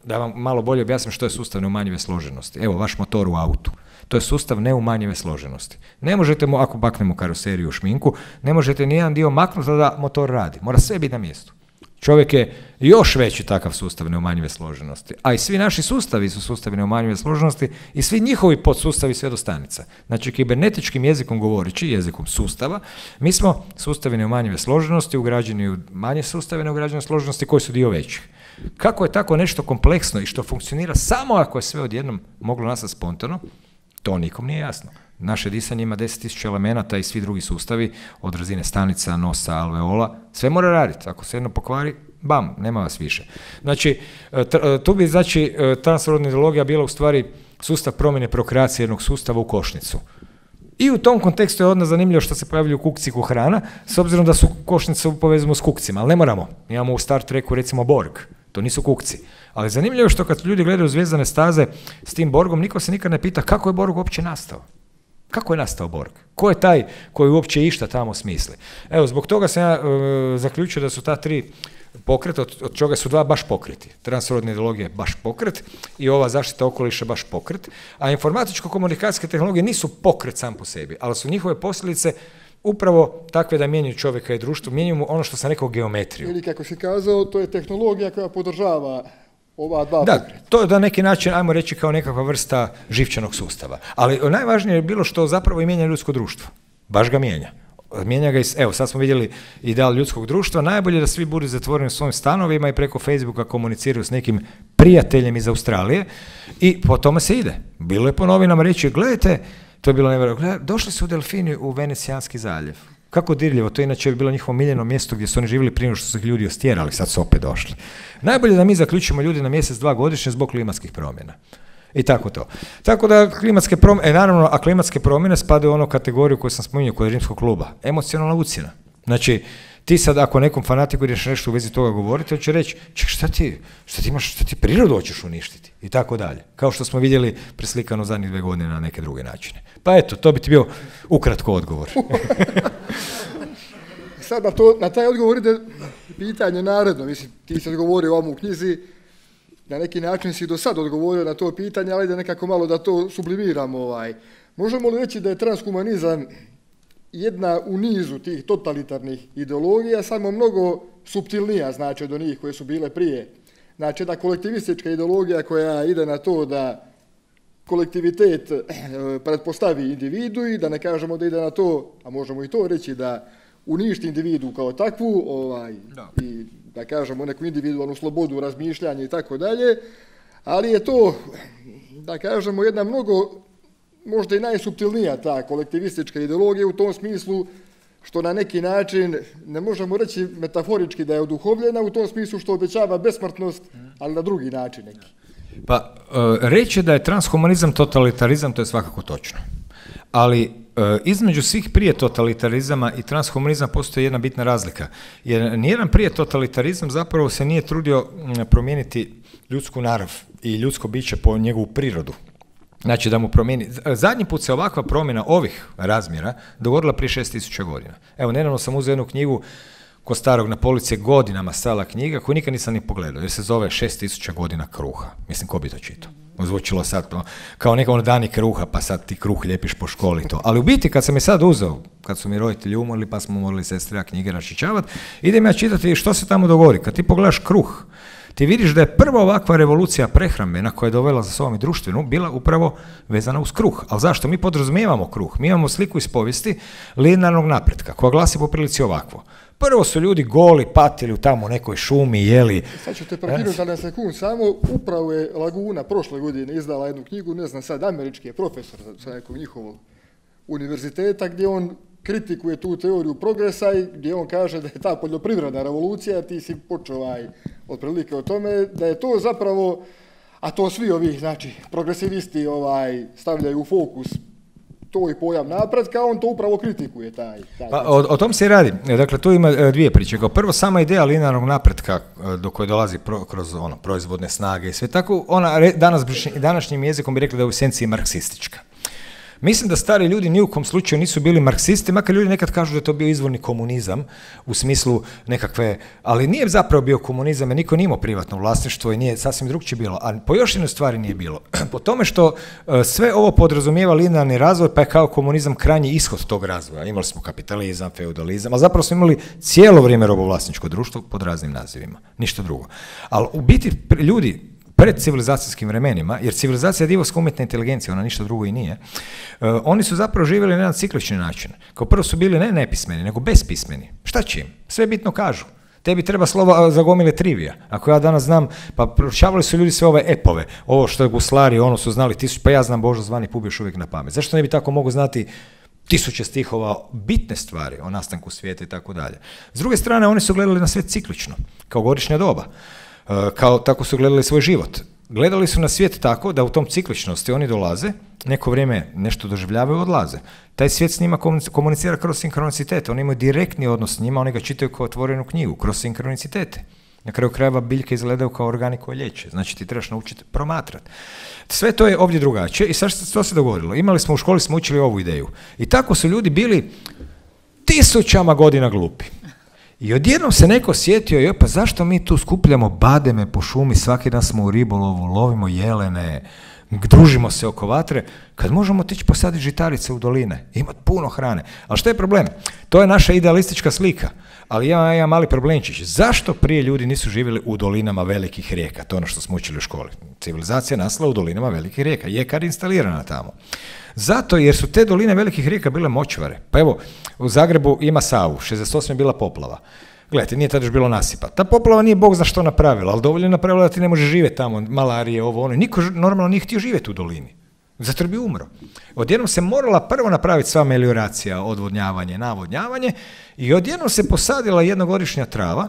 Da vam malo bolje objasnim što je sustav neumanjive složenosti. Evo, vaš motor u autu. To je sustav neumanjive složenosti. Ne možete mu, ako maknemo karoseriju u šminku, ne možete nijedan dio maknuti da motor radi. Mora sve biti na mjestu. Čovjek je još veći takav sustav neumanjive složenosti. A i svi naši sustavi su sustavi neumanjive složenosti i svi njihovi podsustavi sve do stanica. Znači, kibernetičkim jezikom govoreći, jezikom sustava, mi smo sustavi neumanjive složenosti ugrađeni u manje sustave neugrađene složenosti koji su dio većih. Kako je tako nešto kompleksno i što funkcionira samo ako je sve odjednom moglo nastati spontano, to nikom nije jasno. Naše disanje ima deset tisuća elemenata i svi drugi sustavi, od razine stanica, nosa, alveola, sve mora raditi. Ako se jedno pokvari, bam, nema vas više. Znači, tu bi, znači, transrodna ideologija bila u stvari sustav promjene prokreacije jednog sustava u košnicu. I u tom kontekstu je odmah zanimljivo što se pojavljuju kukci ko hrana, s obzirom da su košnicu povezujemo s kukcima, ali ne moramo. Imamo u Star Treku recimo Borg, to nisu kukci. Ali zanimljivo je što kad ljudi gledaju Zvijezdane staze s tim Borgom, niko se nikad ne pita kako je Borg uopće nastao. Kako je nastao Borg? Ko je taj koji uopće išta tamo smisli? Evo, zbog toga sam ja e, zaključio da su ta tri pokreta, od, od čega su dva baš pokreti. Transrodna ideologija je baš pokret i ova zaštita okoliša baš pokret, a informatičko-komunikacijske tehnologije nisu pokret sam po sebi, ali su njihove posljedice upravo takve da mijenjaju čovjeka i društvo, mijenjaju mu ono što sam rekao geometriju. Ili kako si kazao, to je tehnologija koja podržava ova dva Da, pokreta. to je na neki način, ajmo reći, kao nekakva vrsta živčanog sustava. Ali najvažnije je bilo što zapravo i mijenja ljudsko društvo. Baš ga mijenja. Mijenja ga i, evo, sad smo vidjeli ideal ljudskog društva, najbolje da svi budu zatvoreni u svojim stanovima i preko Facebooka komuniciraju s nekim prijateljem iz Australije i po tome se ide. Bilo je po novinama reći, gledajte, to je bilo nevjerojatno, došli su delfini u Venecijanski zaljev. Kako dirljivo, to inače je bilo njihovo miljeno mjesto gdje su oni živjeli prije što su ih ljudi ostjerali, sad su opet došli. Najbolje da mi zaključimo ljudi na mjesec, dva godišnje zbog klimatskih promjena. I tako to. Tako da klimatske promjene, e, naravno, a klimatske promjene spadaju u onu kategoriju koju sam spominjao kod Rimskog kluba. Emocionalna ucjena. Znači, ti sad ako nekom fanatiku ideš nešto u vezi toga govoriti, on će reći, ček, šta ti, šta ti imaš, šta ti prirodu hoćeš uništiti? I tako dalje. Kao što smo vidjeli preslikano zadnjih dve godine na neke druge načine. Pa eto, to bi ti bio ukratko odgovor. Sad na, to, na taj odgovor ide pitanje naredno. Mislim, ti si odgovorio ovom u knjizi, na neki način si do sad odgovorio na to pitanje, ali da nekako malo da to sublimiramo. Ovaj. Možemo li reći da je transhumanizam jedna u nizu tih totalitarnih ideologija, samo mnogo suptilnija, znači, od onih koje su bile prije? Znači, jedna kolektivistička ideologija koja ide na to da kolektivitet pretpostavi individu i da ne kažemo da ide na to, a možemo i to reći, da uništi individu kao takvu, ovaj, da. I da kažemo neku individualnu slobodu razmišljanja i tako dalje, ali je to, da kažemo, jedna mnogo, možda i najsuptilnija ta kolektivistička ideologija u tom smislu što na neki način, ne možemo reći metaforički da je oduhovljena, u tom smislu što obećava besmrtnost, ali na drugi način neki. Pa, reći da je transhumanizam totalitarizam, to je svakako točno. Ali između svih prije totalitarizama i transhumanizma postoji jedna bitna razlika. Jer nijedan prije totalitarizam zapravo se nije trudio promijeniti ljudsku narav i ljudsko biće po njegovu prirodu. Znači da mu promijeni. Zadnji put se ovakva promjena ovih razmjera dogodila prije šest tisuća godina. Evo, nedavno sam uzeo jednu knjigu kod starog na polici godinama stala knjiga koju nikad nisam ni pogledao, jer se zove šest tisuća godina kruha. Mislim, ko bi to čitao? Zvučilo sad kao neka ono dani kruha, pa sad ti kruh lijepiš po školi to. Ali u biti kad sam je sad uzeo, kad su mi roditelji umorili, pa smo morali sestre knjige raščićavati, idem ja čitati što se tamo dogodi. Kad ti pogledaš kruh, ti vidiš da je prva ovakva revolucija prehrambena koja je dovela za sobom i društvenu bila upravo vezana uz kruh. Ali zašto? Mi podrazumijevamo kruh. Mi imamo sliku iz povijesti linearnog napretka koja glasi po prilici ovakvo. Prvo su ljudi goli, patili u tamo nekoj šumi, jeli. Sad ću te prekinuti na sekund, samo upravo je Laguna prošle godine izdala jednu knjigu, ne znam sad, američki je profesor sa nekog njihovog univerziteta, gdje on kritikuje tu teoriju progresa i gdje on kaže da je ta poljoprivredna revolucija, ti si počeo ovaj, otprilike o tome, da je to zapravo, a to svi ovi, znači, progresivisti ovaj, stavljaju u fokus to i pojam napretka, on to upravo kritikuje taj. taj pa, o, o tom se i radi. Dakle, tu ima dvije priče. Kao prvo, sama ideja linearnog napretka do koje dolazi pro, kroz ono, proizvodne snage i sve tako, ona re, danas današnjim jezikom bi rekli da je u esenciji marksistička. Mislim da stari ljudi ni u kom slučaju nisu bili marksisti, makar ljudi nekad kažu da je to bio izvorni komunizam u smislu nekakve, ali nije zapravo bio komunizam jer niko nije imao privatno vlasništvo i nije sasvim drugčije bilo, a po još jednoj stvari nije bilo. Po tome što uh, sve ovo podrazumijeva linearni razvoj, pa je kao komunizam krajnji ishod tog razvoja. Imali smo kapitalizam, feudalizam, a zapravo smo imali cijelo vrijeme robovlasničko društvo pod raznim nazivima, ništa drugo. Ali u biti ljudi pred civilizacijskim vremenima, jer civilizacija je divovska umjetna inteligencija, ona ništa drugo i nije, uh, oni su zapravo živjeli na jedan ciklični način. Kao prvo su bili ne nepismeni, nego bespismeni. Šta će im? Sve bitno kažu. Tebi treba slova za gomile trivija. Ako ja danas znam, pa proučavali su ljudi sve ove epove, ovo što je guslari, ono su znali tisuć, pa ja znam Božo zvani pub još uvijek na pamet. Zašto ne bi tako mogu znati tisuće stihova, bitne stvari o nastanku svijeta i tako dalje. S druge strane, oni su gledali na svijet ciklično, kao godišnja doba. Kao, tako su gledali svoj život. Gledali su na svijet tako da u tom cikličnosti oni dolaze, neko vrijeme nešto doživljavaju i odlaze. Taj svijet s njima komunicira kroz sinkronicitete, oni imaju direktni odnos s njima, oni ga čitaju kao otvorenu knjigu, kroz sinkronicitete. Na kraju krajeva biljke izgledaju kao organi koje liječe, znači ti trebaš naučiti promatrati. Sve to je ovdje drugačije i sad što se dogodilo? Imali smo u školi, smo učili ovu ideju. I tako su ljudi bili tisućama godina glupi. I odjednom se neko sjetio, joj, pa zašto mi tu skupljamo bademe po šumi, svaki dan smo u ribolovu, lovimo jelene, družimo se oko vatre, kad možemo otići posaditi žitarice u doline, imati puno hrane. Ali što je problem? To je naša idealistička slika, ali ja imam mali problemčić. Zašto prije ljudi nisu živjeli u dolinama velikih rijeka? To je ono što smo učili u školi. Civilizacija nastala u dolinama velikih rijeka, jekar instalirana tamo. Zato jer su te doline velikih rijeka bile močvare. Pa evo, u Zagrebu ima Savu, šezdeset osme je bila poplava. Gledajte, nije tada još bilo nasipa. Ta poplava nije Bog za što napravila, ali dovoljno je napravila da ti ne može živjeti tamo, malarije, ovo, ono. Niko normalno nije htio živjeti u dolini. Zato jer bi umro. Odjednom se morala prvo napraviti sva melioracija, odvodnjavanje, navodnjavanje i odjednom se posadila jednogodišnja trava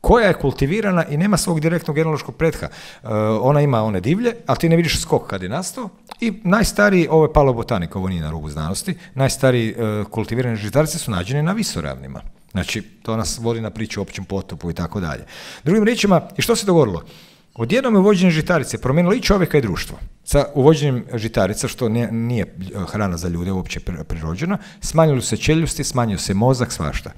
koja je kultivirana i nema svog direktnog genealoškog pretha. Uh, ona ima one divlje, ali ti ne vidiš skok kad je nastao. I najstariji, ovo je paleobotanika, ovo nije na rubu znanosti, najstariji uh, kultivirane žitarice su nađene na visoravnima. Znači, to nas vodi na priču o općem potopu i tako dalje. Drugim riječima, i što se dogodilo? Odjednom je uvođenje žitarice promijenilo i čovjeka i društvo. Sa uvođenjem žitarica, što nije, nije hrana za ljude uopće prirođena, smanjili su se čeljusti, smanjio se mozak, svašta.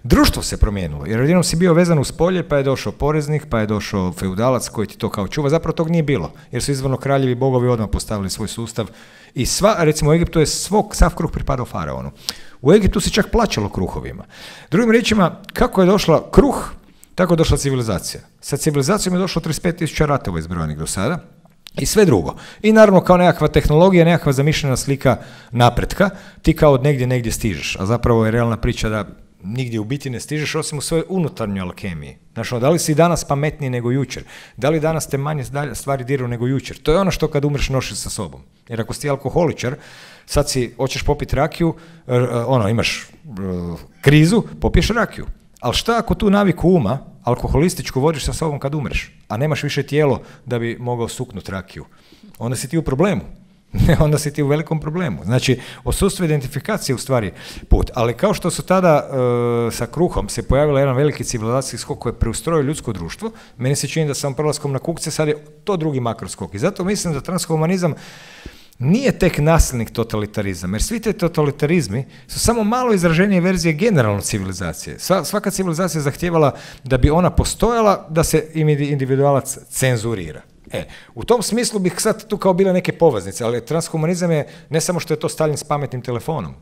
Društvo se promijenilo, jer odjednom si bio vezan uz polje, pa je došao poreznik, pa je došao feudalac koji ti to kao čuva. Zapravo tog nije bilo, jer su izvorno kraljevi bogovi odmah postavili svoj sustav. I sva, recimo u Egiptu je svog, sav kruh pripadao faraonu. U Egiptu se čak plaćalo kruhovima. Drugim riječima, kako je došla kruh, tako je došla civilizacija. Sa civilizacijom je došlo trideset pet tisuća ratova izbrojanih do sada i sve drugo. I naravno kao nekakva tehnologija, nekakva zamišljena slika napretka, ti kao od negdje negdje stižeš, a zapravo je realna priča da nigdje u biti ne stižeš osim u svojoj unutarnjoj alkemiji. Znači, da li si danas pametniji nego jučer? Da li danas te manje stvari diraju nego jučer? To je ono što kad umreš nosiš sa sobom. Jer ako si ti alkoholičar, sad si, hoćeš popiti rakiju, ono, imaš uh, krizu, popiješ rakiju. Ali šta ako tu naviku uma, alkoholističku, vodiš sa sobom kad umreš, a nemaš više tijelo da bi mogao suknuti rakiju? Onda si ti u problemu. Onda si ti u velikom problemu. Znači, odsustvo identifikacije je u stvari put. Ali kao što su tada e, sa kruhom se pojavila jedan veliki civilizacijski skok koji je preustrojio ljudsko društvo, meni se čini da sam prelaskom na kukce sad je to drugi makroskok. I zato mislim da transhumanizam nije tek nasilnik totalitarizam, jer svi te totalitarizmi su samo malo izraženije verzije generalno civilizacije. Svaka civilizacija je zahtijevala da bi ona postojala, da se individualac cenzurira. E, u tom smislu bih sad tu kao bile neke poveznice, ali transhumanizam je ne samo što je to Stalin s pametnim telefonom,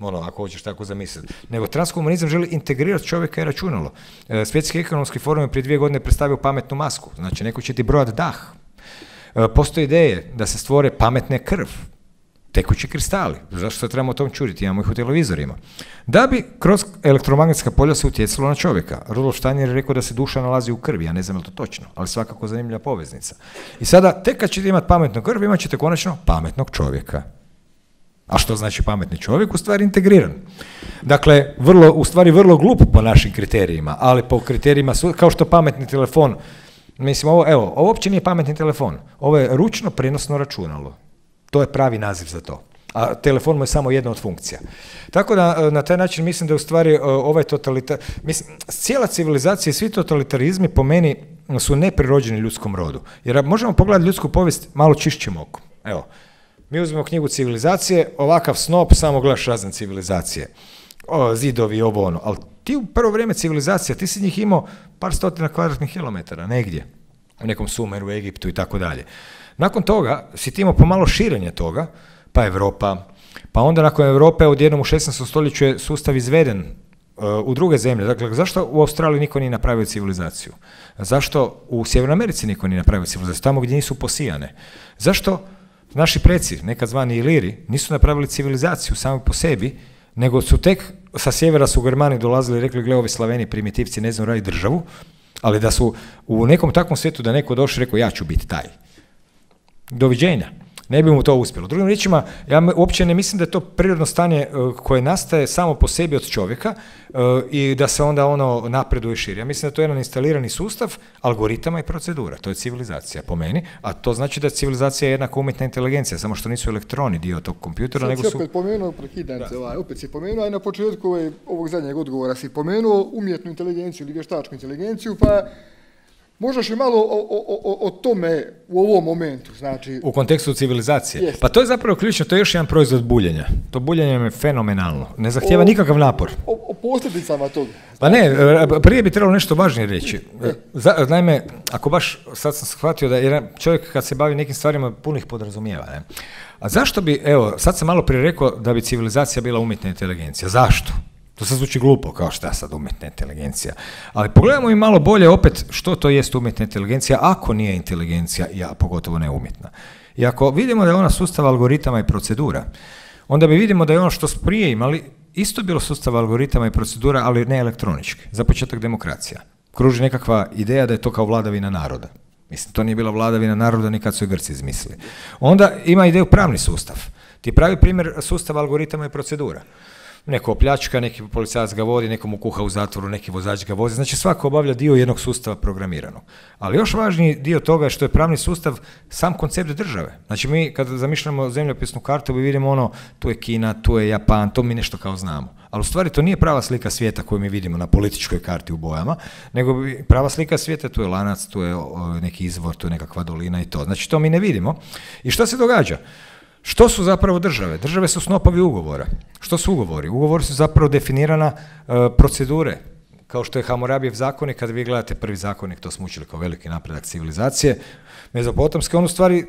ono, ako hoćeš tako zamisliti, nego transhumanizam želi integrirati čovjeka i računalo. E, Svjetski ekonomski forum je prije dvije godine predstavio pametnu masku, znači neko će ti brojati dah. E, postoje ideje da se stvore pametne krv, tekući kristali, zašto se trebamo o tom čuditi, imamo ih u televizorima, da bi kroz elektromagnetska polja se utjecalo na čovjeka. Rudolf Steiner je rekao da se duša nalazi u krvi, ja ne znam je li to točno, ali svakako zanimljiva poveznica. I sada, tek kad ćete imati pametnu krv, imat ćete konačno pametnog čovjeka. A što znači pametni čovjek? U stvari integriran. Dakle, vrlo, u stvari vrlo glup po našim kriterijima, ali po kriterijima, su, kao što pametni telefon, mislim, ovo, evo, ovo uopće nije pametni telefon, ovo je ručno prenosno računalo. To je pravi naziv za to. A telefon mu je samo jedna od funkcija. Tako da na taj način mislim da u stvari ovaj totalitar... Mislim, cijela civilizacija i svi totalitarizmi po meni su neprirođeni ljudskom rodu. Jer možemo pogledati ljudsku povijest malo čišćim okom. Evo, mi uzmemo knjigu Civilizacije, ovakav snop, samo gledaš razne civilizacije. O, zidovi, ovo ono. Ali ti u prvo vrijeme civilizacija, ti si njih imao par stotina kvadratnih kilometara, negdje. U nekom Sumeru, Egiptu i tako dalje. Nakon toga si ti imao pomalo širenje toga, pa Europa, pa onda nakon Europe odjednom u šesnaestom stoljeću je sustav izveden uh, u druge zemlje. Dakle, zašto u Australiji niko nije napravio civilizaciju? Zašto u Sjevernoj Americi niko nije napravio civilizaciju? Tamo gdje nisu posijane. Zašto naši preci, nekad zvani Iliri, nisu napravili civilizaciju sami po sebi, nego su tek sa sjevera su Germani dolazili i rekli, gle, ovi Slaveni primitivci ne znaju raditi državu, ali da su u nekom takvom svijetu da neko došao i rekao, ja ću biti taj. Doviđenja. Ne bi mu to uspjelo. Drugim riječima, ja uopće ne mislim da je to prirodno stanje uh, koje nastaje samo po sebi od čovjeka uh, i da se onda ono napreduje i širi. Ja mislim da to je jedan instalirani sustav algoritama i procedura. To je civilizacija po meni, a to znači da civilizacija je jednaka umjetna inteligencija, samo što nisu elektroni dio tog kompjutera, nego su... Sad si opet pomenuo, prekidam se, ovaj, opet si pomenuo, a na početku ovog zadnjeg odgovora si pomenuo umjetnu inteligenciju ili vještačku inteligenciju, pa Možeš li malo o, o, o, o tome u ovom momentu, znači... U kontekstu civilizacije. Jest. Pa to je zapravo ključno, to je još jedan proizvod buljenja. To buljenje je fenomenalno. Ne zahtijeva O- nikakav napor. O, o posljedicama toga. Pa ne, prije bi trebalo nešto važnije reći. Za, naime, ako baš, sad sam shvatio da jedan čovjek kad se bavi nekim stvarima puno ih podrazumijeva. Ne? A zašto bi, evo, sad sam malo prije rekao da bi civilizacija bila umjetna inteligencija. Zašto? To sad zvuči glupo, kao šta sad umjetna inteligencija. Ali pogledajmo i malo bolje opet što to jest umjetna inteligencija, ako nije inteligencija, a pogotovo ne umjetna. I ako vidimo da je ona sustav algoritama i procedura, onda mi vidimo da je ono što smo prije imali isto bilo sustav algoritama i procedura, ali ne elektronički. Za početak demokracija. Kruži nekakva ideja da je to kao vladavina naroda. Mislim, to nije bila vladavina naroda ni kad su je Grci izmislili. Onda ima ideju pravni sustav. Ti je pravi primjer sustava algoritama i procedura. Neko opljačka, neki policajac ga vodi, neko mu kuha u zatvoru, neki vozač ga vozi. Znači svako obavlja dio jednog sustava programiranog. Ali još važniji dio toga je što je pravni sustav sam koncept države. Znači mi kad zamišljamo zemljopisnu kartu mi vidimo ono, tu je Kina, tu je Japan, to mi nešto kao znamo. Ali u stvari to nije prava slika svijeta koju mi vidimo na političkoj karti u bojama, nego prava slika svijeta, tu je lanac, tu je neki izvor, tu je nekakva dolina i to. Znači to mi ne vidimo. I što se događa? Što su zapravo države? Države su snopovi ugovora. Što su ugovori? Ugovori su zapravo definirana uh, procedure, kao što je Hammurabijev zakonik. Kad vi gledate prvi zakonik, to smo učili kao veliki napredak civilizacije, mezopotamske, on u stvari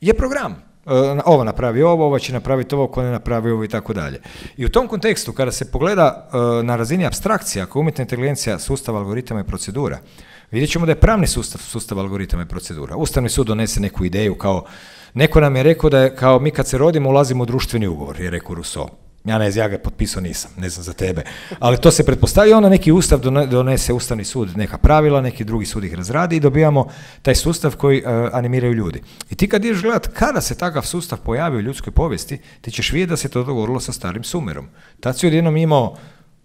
je program. Uh, ovo napravi ovo, ovo će napraviti ovo, ko ne napravi ovo i tako dalje. I u tom kontekstu, kada se pogleda uh, na razini apstrakcija, ako umjetna inteligencija sustav algoritama i procedura, vidjet ćemo da je pravni sustav sustav algoritama i procedura. Ustavni sud donese neku ideju kao neko nam je rekao da je kao mi kad se rodimo ulazimo u društveni ugovor, je rekao Rousseau. Ja ne znam, ja ga potpisao nisam, ne znam za tebe. Ali to se pretpostavi, onda neki ustav donese Ustavni sud neka pravila, neki drugi sud ih razradi i dobijamo taj sustav koji uh, animiraju ljudi. I ti kad ideš gledat kada se takav sustav pojavio u ljudskoj povijesti, ti ćeš vidjeti da se to dogovorilo sa starim Sumerom. Tad si odjednom imao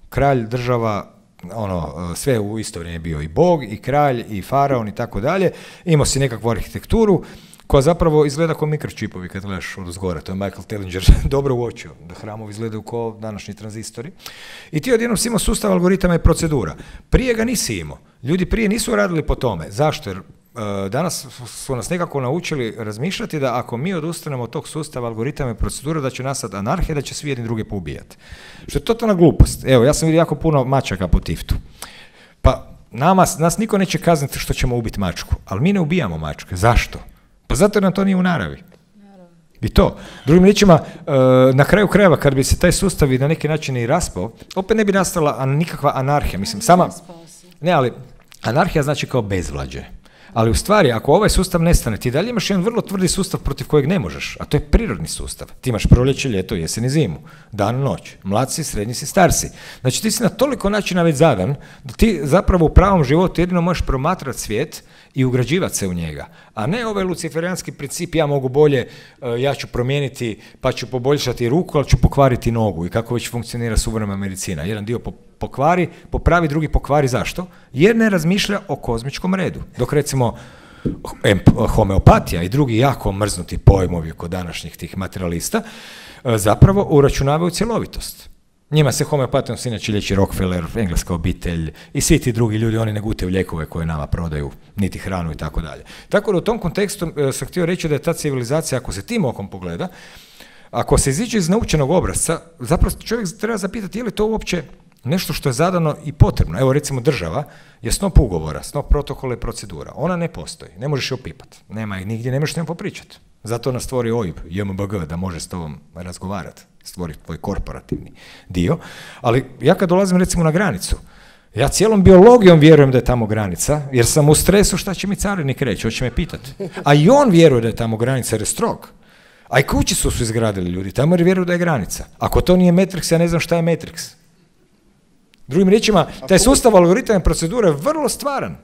kralj, država, ono, sve u isto vrijeme bio i bog, i kralj, i faraon i tako dalje. Imao si nekakvu arhitekturu koja zapravo izgleda kao mikročipovi kad gledaš od zgora. To je Michael Tellinger dobro uočio, da hramovi izgledaju kao današnji tranzistori. I ti odjednom si imao sustav algoritama i procedura. Prije ga nisi imao. Ljudi prije nisu radili po tome. Zašto? Jer uh, danas su nas nekako naučili razmišljati da ako mi odustanemo od tog sustava algoritama i procedura, da će nastati anarhija, da će svi jedni druge poubijati. Što je totalna glupost. Evo, ja sam vidio jako puno mačaka po Tiftu. Pa nama, nas niko neće kazniti što ćemo ubiti mačku, ali mi ne ubijamo mačke. Zašto? Pa zato jer nam to nije u naravi. I to. Drugim riječima, na kraju krajeva, kad bi se taj sustav i na neki način i raspao, opet ne bi nastala nikakva anarhija. Mislim, sama... Ne, ali anarhija znači kao bezvlađe. Ali u stvari, ako ovaj sustav nestane, ti dalje imaš jedan vrlo tvrdi sustav protiv kojeg ne možeš, a to je prirodni sustav. Ti imaš proljeće, ljeto, jesen i zimu, dan, noć, mlad si, srednji si, star si. Znači ti si na toliko načina već zadan, da ti zapravo u pravom životu jedino možeš promatrati svijet i ugrađivati se u njega. A ne ovaj luciferijanski princip, ja mogu bolje, ja ću promijeniti, pa ću poboljšati ruku, ali ću pokvariti nogu i kako već funkcionira suvremena medicina. Jedan dio pokvari, popravi, drugi pokvari. Zašto? Jer ne razmišlja o kozmičkom redu. Dok recimo homeopatija i drugi jako mrznuti pojmovi kod današnjih tih materialista zapravo uračunavaju cjelovitost. Njima se homeopatijom se inače liječi Rockefeller, engleska obitelj i svi ti drugi ljudi, oni ne gutaju lijekove koje nama prodaju, niti hranu i tako dalje. Tako da u tom kontekstu sam htio reći da je ta civilizacija, ako se tim okom pogleda, ako se iziđe iz naučenog obrazca, zapravo čovjek treba zapitati je li to uopće nešto što je zadano i potrebno. Evo recimo država je snop ugovora, snop protokola i procedura. Ona ne postoji, ne možeš je opipati. Nema ih nigdje, ne možeš s njom popričati. Zato nas stvori O I B, J M B G, da može s tobom razgovarati, stvori tvoj korporativni dio. Ali ja kad dolazim recimo na granicu, ja cijelom biologijom vjerujem da je tamo granica, jer sam u stresu šta će mi carinik reći, hoće me pitati. A i on vjeruje da je tamo granica jer je strog. A i kući su su izgradili ljudi, tamo jer vjeruju da je granica. Ako to nije Matrix, ja ne znam šta je Matrix. Drugim riječima, taj sustav algoritama i procedure je vrlo stvaran.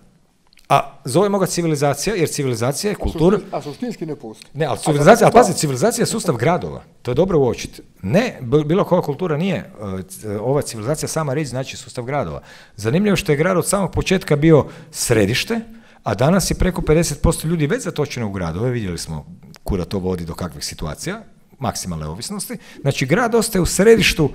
A zovemo ga civilizacija, jer civilizacija je kultura... A suštinski ne postoji. Ne, ali civilizacija, ali pazi, civilizacija je sustav gradova. To je dobro uočiti. Ne, bilo koja kultura nije. Ova civilizacija, sama riječ znači sustav gradova. Zanimljivo što je grad od samog početka bio središte, a danas je preko pedeset posto ljudi već zatočeno u gradove. Vidjeli smo kuda to vodi do kakvih situacija, maksimalne ovisnosti. Znači, grad ostaje u središtu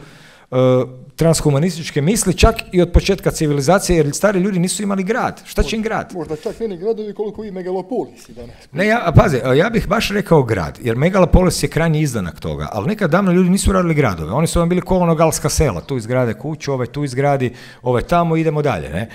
transhumanističke misli, čak i od početka civilizacije, jer stari ljudi nisu imali grad. Šta će im grad? Možda čak ne ni gradovi koliko i megalopolisi danas. Ne, ja, a pazi, ja bih baš rekao grad, jer megalopolis je krajnji izdanak toga, ali nekad davno ljudi nisu radili gradove, oni su vam bili kolonogalska sela, tu izgrade kuću, ovaj tu izgradi, ovaj tamo, idemo dalje. Ne?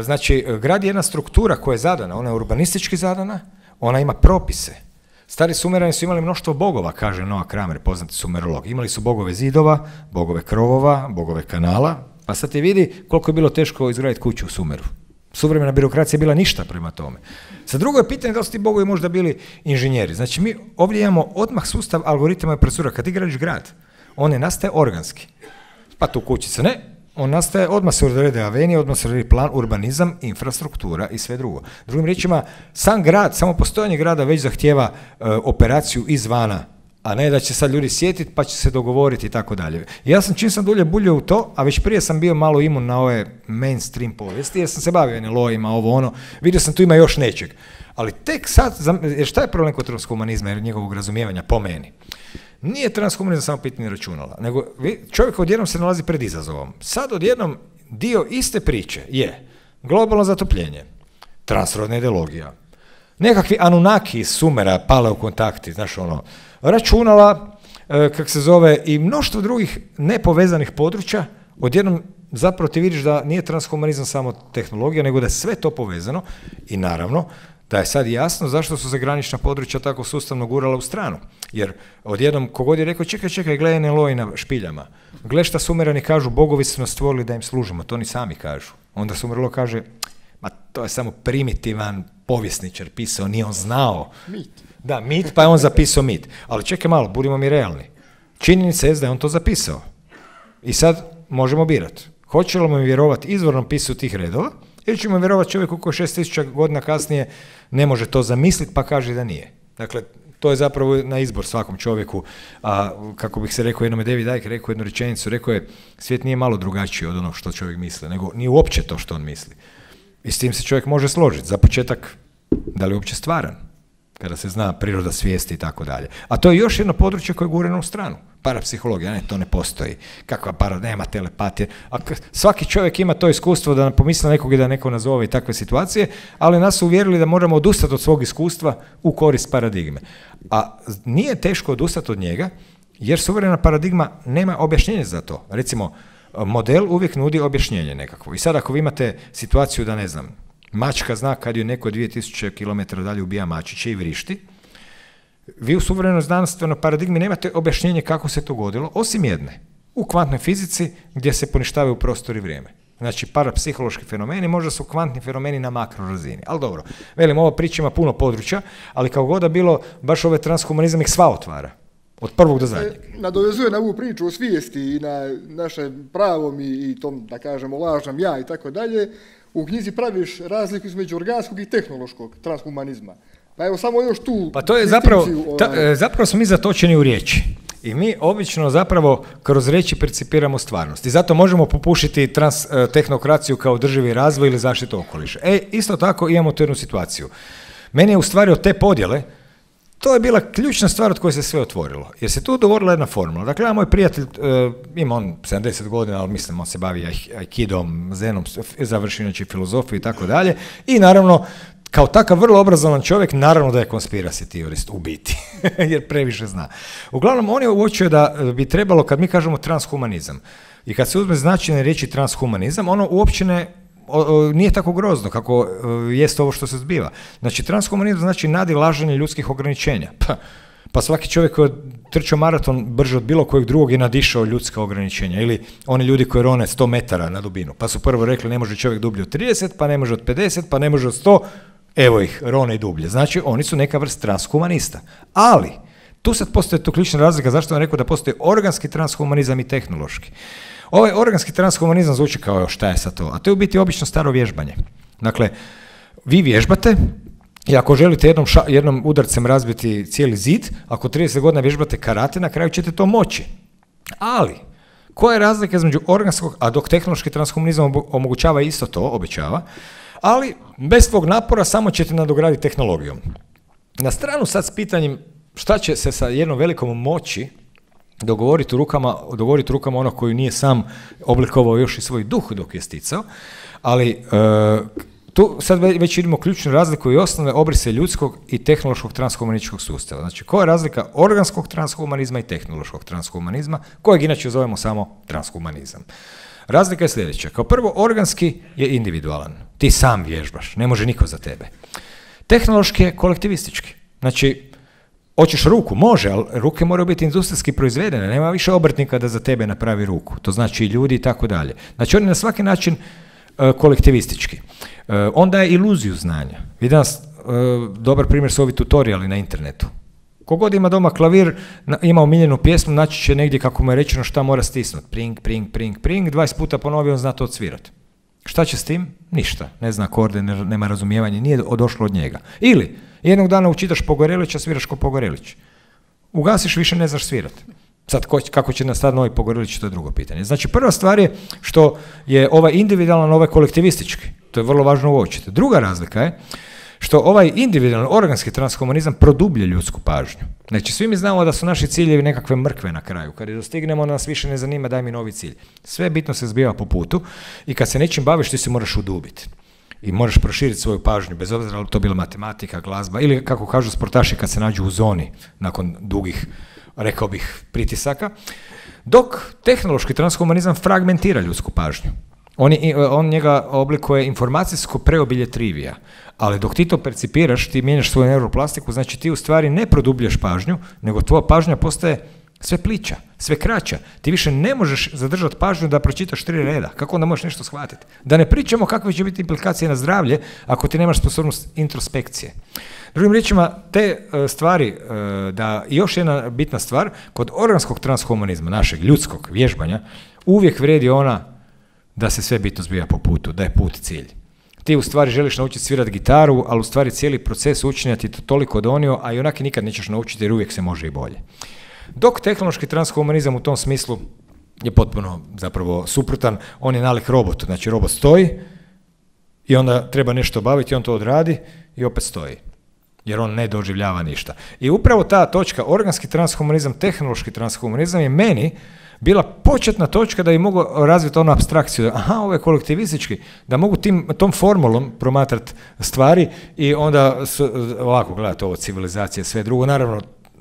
Znači, grad je jedna struktura koja je zadana, ona je urbanistički zadana, ona ima propise. Stari Sumerani su imali mnoštvo bogova, kaže Noah Kramer, poznati sumerolog. Imali su bogove zidova, bogove krovova, bogove kanala, pa sad ti vidi koliko je bilo teško izgraditi kuću u Sumeru. Suvremena birokracija je bila ništa prema tome. Sa drugo je pitanje da li su ti bogovi možda bili inženjeri. Znači mi ovdje imamo odmah sustav algoritama i procedura. Kad ti gradiš grad, on ne nastaje organski. Pa tu kućica ne, on nastaje, odmah se odrede avenije, odmah se odredi plan, urbanizam, infrastruktura i sve drugo. Drugim riječima, sam grad, samo postojanje grada već zahtijeva e, operaciju izvana, a ne da će sad ljudi sjetiti pa će se dogovoriti i tako dalje. Ja sam čim sam dulje buljio u to, a već prije sam bio malo imun na ove mainstream povijesti, jer sam se bavio N L O-ima, ovo ono, vidio sam tu ima još nečeg. Ali tek sad, jer šta je problem kod transhumanizma i njegovog razumijevanja po meni? Nije transhumanizam samo pitanje računala, nego čovjek odjednom se nalazi pred izazovom. Sad odjednom dio iste priče je globalno zatopljenje, transrodna ideologija, nekakvi Anunnaki iz Sumera pale u kontakti, znaš ono, računala, e, kak se zove, i mnoštvo drugih nepovezanih područja, odjednom zapravo ti vidiš da nije transhumanizam samo tehnologija, nego da je sve to povezano i naravno da je sad jasno zašto su se granična područja tako sustavno gurala u stranu. Jer odjednom kogod je rekao čekaj, čekaj, gledaj N L O i na špiljama. Gle šta Sumerani kažu, bogovi su nas stvorili da im služimo, to oni sami kažu. Onda Sumerolo kaže, ma to je samo primitivan povjesničar pisao, nije on znao. Mit. Da, mit, pa je on zapisao mit. Ali čekaj malo, budimo mi realni. Činjenica je da je on to zapisao. I sad možemo birati. Hoćemo mu vjerovati izvornom pisu tih redova, ili ćemo vjerovati čovjeku koji šest tisuća godina kasnije ne može to zamisliti pa kaže da nije. Dakle, to je zapravo na izbor svakom čovjeku. A kako bih se rekao jednome, David Icke rekao jednu rečenicu, rekao je svijet nije malo drugačiji od onog što čovjek misli, nego nije uopće to što on misli. I s tim se čovjek može složiti. Za početak, da li je uopće stvaran, kada se zna priroda svijesti i tako dalje. A to je još jedno područje koje je gureno u stranu. Parapsihologija, ne, to ne postoji. Kakva para, nema telepatije. A svaki čovjek ima to iskustvo da pomisli nekog i da neko nazove i takve situacije, ali nas su uvjerili da moramo odustati od svog iskustva u korist paradigme. A nije teško odustati od njega, jer suverena paradigma nema objašnjenja za to. Recimo, model uvijek nudi objašnjenje nekakvo. I sad ako vi imate situaciju da, ne znam, mačka zna kad ju neko dvije tisuće kilometara dalje ubija mačiće i vrišti, vi u suvremenoj znanstvenoj paradigmi nemate objašnjenje kako se to dogodilo, osim jedne. U kvantnoj fizici gdje se poništavaju prostor i vrijeme. Znači, parapsihološki fenomeni možda su kvantni fenomeni na makro razini. Ali dobro, velim, ova priča ima puno područja, ali kao god da bilo, baš ovaj transhumanizam ih sva otvara. Od prvog do zadnjeg. Nadovezuje na ovu priču o svijesti i na naše pravom i, i tom, da kažemo, lažnom ja i tako dalje. U knjizi praviš razliku između organskog i tehnološkog transhumanizma. Pa evo samo još tu... Pa to je zapravo, ta, zapravo smo mi zatočeni u riječi. I mi obično zapravo kroz riječi percipiramo stvarnost. I zato možemo popušiti trans, tehnokraciju kao održivi razvoj ili zaštitu okoliša. E, isto tako imamo tu jednu situaciju. Meni je u stvari od te podjele, to je bila ključna stvar od koje se sve otvorilo. Jer se tu dogovorila jedna formula. Dakle, ja, moj prijatelj, uh, ima on sedamdeset godina, ali mislim, on se bavi aikidom, zenom, završi inače filozofiju i tako dalje. I naravno, kao takav vrlo obrazovan čovjek, naravno da je conspiracy teorist u biti, jer previše zna. Uglavnom, on je uočio da bi trebalo, kad mi kažemo transhumanizam, i kad se uzme značajne riječi transhumanizam, ono uopće ne, o, o, nije tako grozno kako o, jest ovo što se zbiva. Znači, transhumanizam znači nadilaženje ljudskih ograničenja. Pa, pa svaki čovjek koji je trčao maraton brže od bilo kojeg drugog je nadišao ljudska ograničenja. Ili oni ljudi koji rone sto metara na dubinu. Pa su prvo rekli ne može čovjek dublje od trideset, pa ne može od pedeset, pa ne može od sto. Evo ih, rone i dublje. Znači, oni su neka vrst transhumanista. Ali, tu sad postoji tu ključna razlika, zašto sam rekao da postoji organski transhumanizam i tehnološki. Ovaj organski transhumanizam zvuči kao šta je sad to, a to je u biti obično staro vježbanje. Dakle, vi vježbate i ako želite jednom, ša, jednom udarcem razbiti cijeli zid, ako trideset godina vježbate karate, na kraju ćete to moći. Ali, koja je razlika između organskog, a dok tehnološki transhumanizam omogućava isto to, obećava, ali bez tvog napora samo ćete nadograditi tehnologijom. Na stranu sad s pitanjem šta će se sa jednom velikom moći dogovoriti u rukama, dogovoriti rukama onog koji nije sam oblikovao još i svoj duh dok je sticao, ali e, tu sad već vidimo ključnu razliku i osnovne obrise ljudskog i tehnološkog transhumanističkog sustava. Znači, koja je razlika organskog transhumanizma i tehnološkog transhumanizma, kojeg inače zovemo samo transhumanizam? Razlika je sljedeća. Kao prvo, organski je individualan. Ti sam vježbaš, ne može niko za tebe. Tehnološki je kolektivistički. Znači, hoćeš ruku, može, ali ruke moraju biti industrijski proizvedene, nema više obrtnika da za tebe napravi ruku. To znači i ljudi i tako dalje. Znači, on je na svaki način uh, kolektivistički. Uh, on daje iluziju znanja. Vi danas, uh, dobar primjer su ovi tutoriali na internetu. Kogod ima doma klavir, na, ima omiljenu pjesmu, naći će negdje kako mu je rečeno šta mora stisnuti. Pring, pring, pring, pring, dvadeset puta ponovio, on zna to odsvirati. Šta će s tim? Ništa. Ne zna akorde, ne, nema razumijevanja, nije došlo od njega. Ili, jednog dana učitaš Pogorelića, sviraš ko Pogorelić. Ugasiš, više ne znaš svirati. Sad, ko, kako će nastati novi Pogorelić, to je drugo pitanje. Znači, prva stvar je što je ovaj individualan, ovaj kolektivistički. To je vrlo važno uočiti. Druga razlika je što ovaj individualni, organski transhumanizam produblje ljudsku pažnju. Znači, svi mi znamo da su naši ciljevi nekakve mrkve na kraju. Kad je dostignemo, nas više ne zanima, daj mi novi cilj. Sve bitno se zbiva po putu i kad se nečim baviš, ti se moraš udubiti. I moraš proširiti svoju pažnju, bez obzira li to bila matematika, glazba ili, kako kažu sportaši, kad se nađu u zoni nakon dugih, rekao bih, pritisaka. Dok tehnološki transhumanizam fragmentira ljudsku pažnju. On, je, on njega oblikuje informacijsko preobilje trivija, ali dok ti to percipiraš, ti mijenjaš svoju neuroplastiku, znači ti u stvari ne produbljaš pažnju, nego tvoja pažnja postaje sve plića, sve kraća. Ti više ne možeš zadržati pažnju da pročitaš tri reda. Kako onda možeš nešto shvatiti? Da ne pričamo kakve će biti implikacije na zdravlje ako ti nemaš sposobnost introspekcije. Drugim riječima, te uh, stvari, uh, da još jedna bitna stvar, kod organskog transhumanizma, našeg ljudskog vježbanja, uvijek vrijedi ona da se sve bitno zbija po putu, da je put cilj. Ti u stvari želiš naučiti svirati gitaru, ali u stvari cijeli proces učenja ti to toliko donio, a i onak nikad nećeš naučiti jer uvijek se može i bolje. Dok tehnološki transhumanizam u tom smislu je potpuno zapravo suprotan, on je nalik robotu, znači robot stoji i onda treba nešto obaviti, on to odradi i opet stoji, jer on ne doživljava ništa. I upravo ta točka, organski transhumanizam, tehnološki transhumanizam je meni bila početna točka da bi mogu razviti onu apstrakciju, aha, ovo je kolektivistički, da mogu tim, tom formulom promatrati stvari i onda s, ovako gledati ovo, civilizacije, sve drugo, naravno,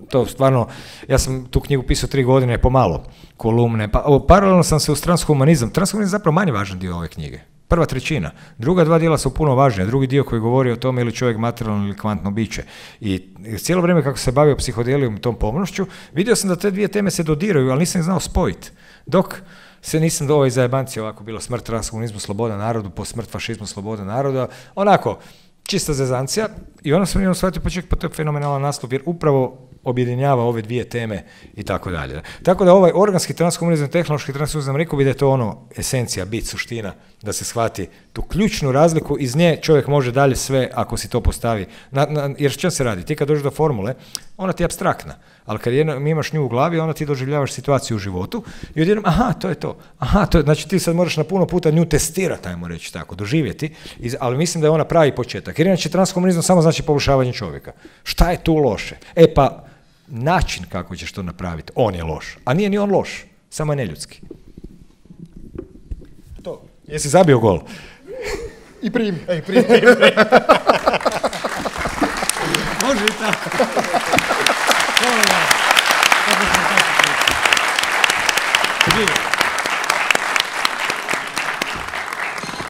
to stvarno, ja sam tu knjigu pisao tri godine pomalo, kolumne, pa ovo, paralelno sam se uz transhumanizam, transhumanizam je zapravo manje važan dio ove knjige, prva trećina, druga dva dijela su puno važnija, drugi dio koji govori o tome ili čovjek materijalno ili kvantno biće. I cijelo vrijeme kako se bavio psihodelijom i tom pomnošću, vidio sam da te dvije teme se dodiraju, ali nisam ih znao spojiti. Dok se nisam do ovoj zajebanci ovako bilo smrt transhumanizmu, sloboda narodu, po smrt fašizmu, sloboda naroda, onako, čista zezancija, i onda sam jednom shvatio, pa ček, pa to je fenomenalan naslov, jer upravo objedinjava ove dvije teme i tako dalje. Tako da ovaj organski transhumanizam, tehnološki transhumanizam, rekao bi da je to ono esencija, bit, suština, da se shvati tu ključnu razliku, iz nje čovjek može dalje sve ako si to postavi. Na, na, jer što se radi? Ti kad dođeš do formule, ona ti je apstraktna, ali kad jedno, imaš nju u glavi, onda ti doživljavaš situaciju u životu i odjednom, aha, to je to. Aha, to je, znači ti sad moraš na puno puta nju testirati, ajmo reći tako, doživjeti, iz, ali mislim da je ona pravi početak. Jer inače transhumanizam samo znači poboljšavanje čovjeka. Šta je tu loše? E pa, način kako ćeš to napraviti, on je loš. A nije ni on loš, samo je neljudski. To. Jesi zabio gol? I prim. Ej, prim, prim, prim. Može i tako. Hvala vam. Kako smo tako.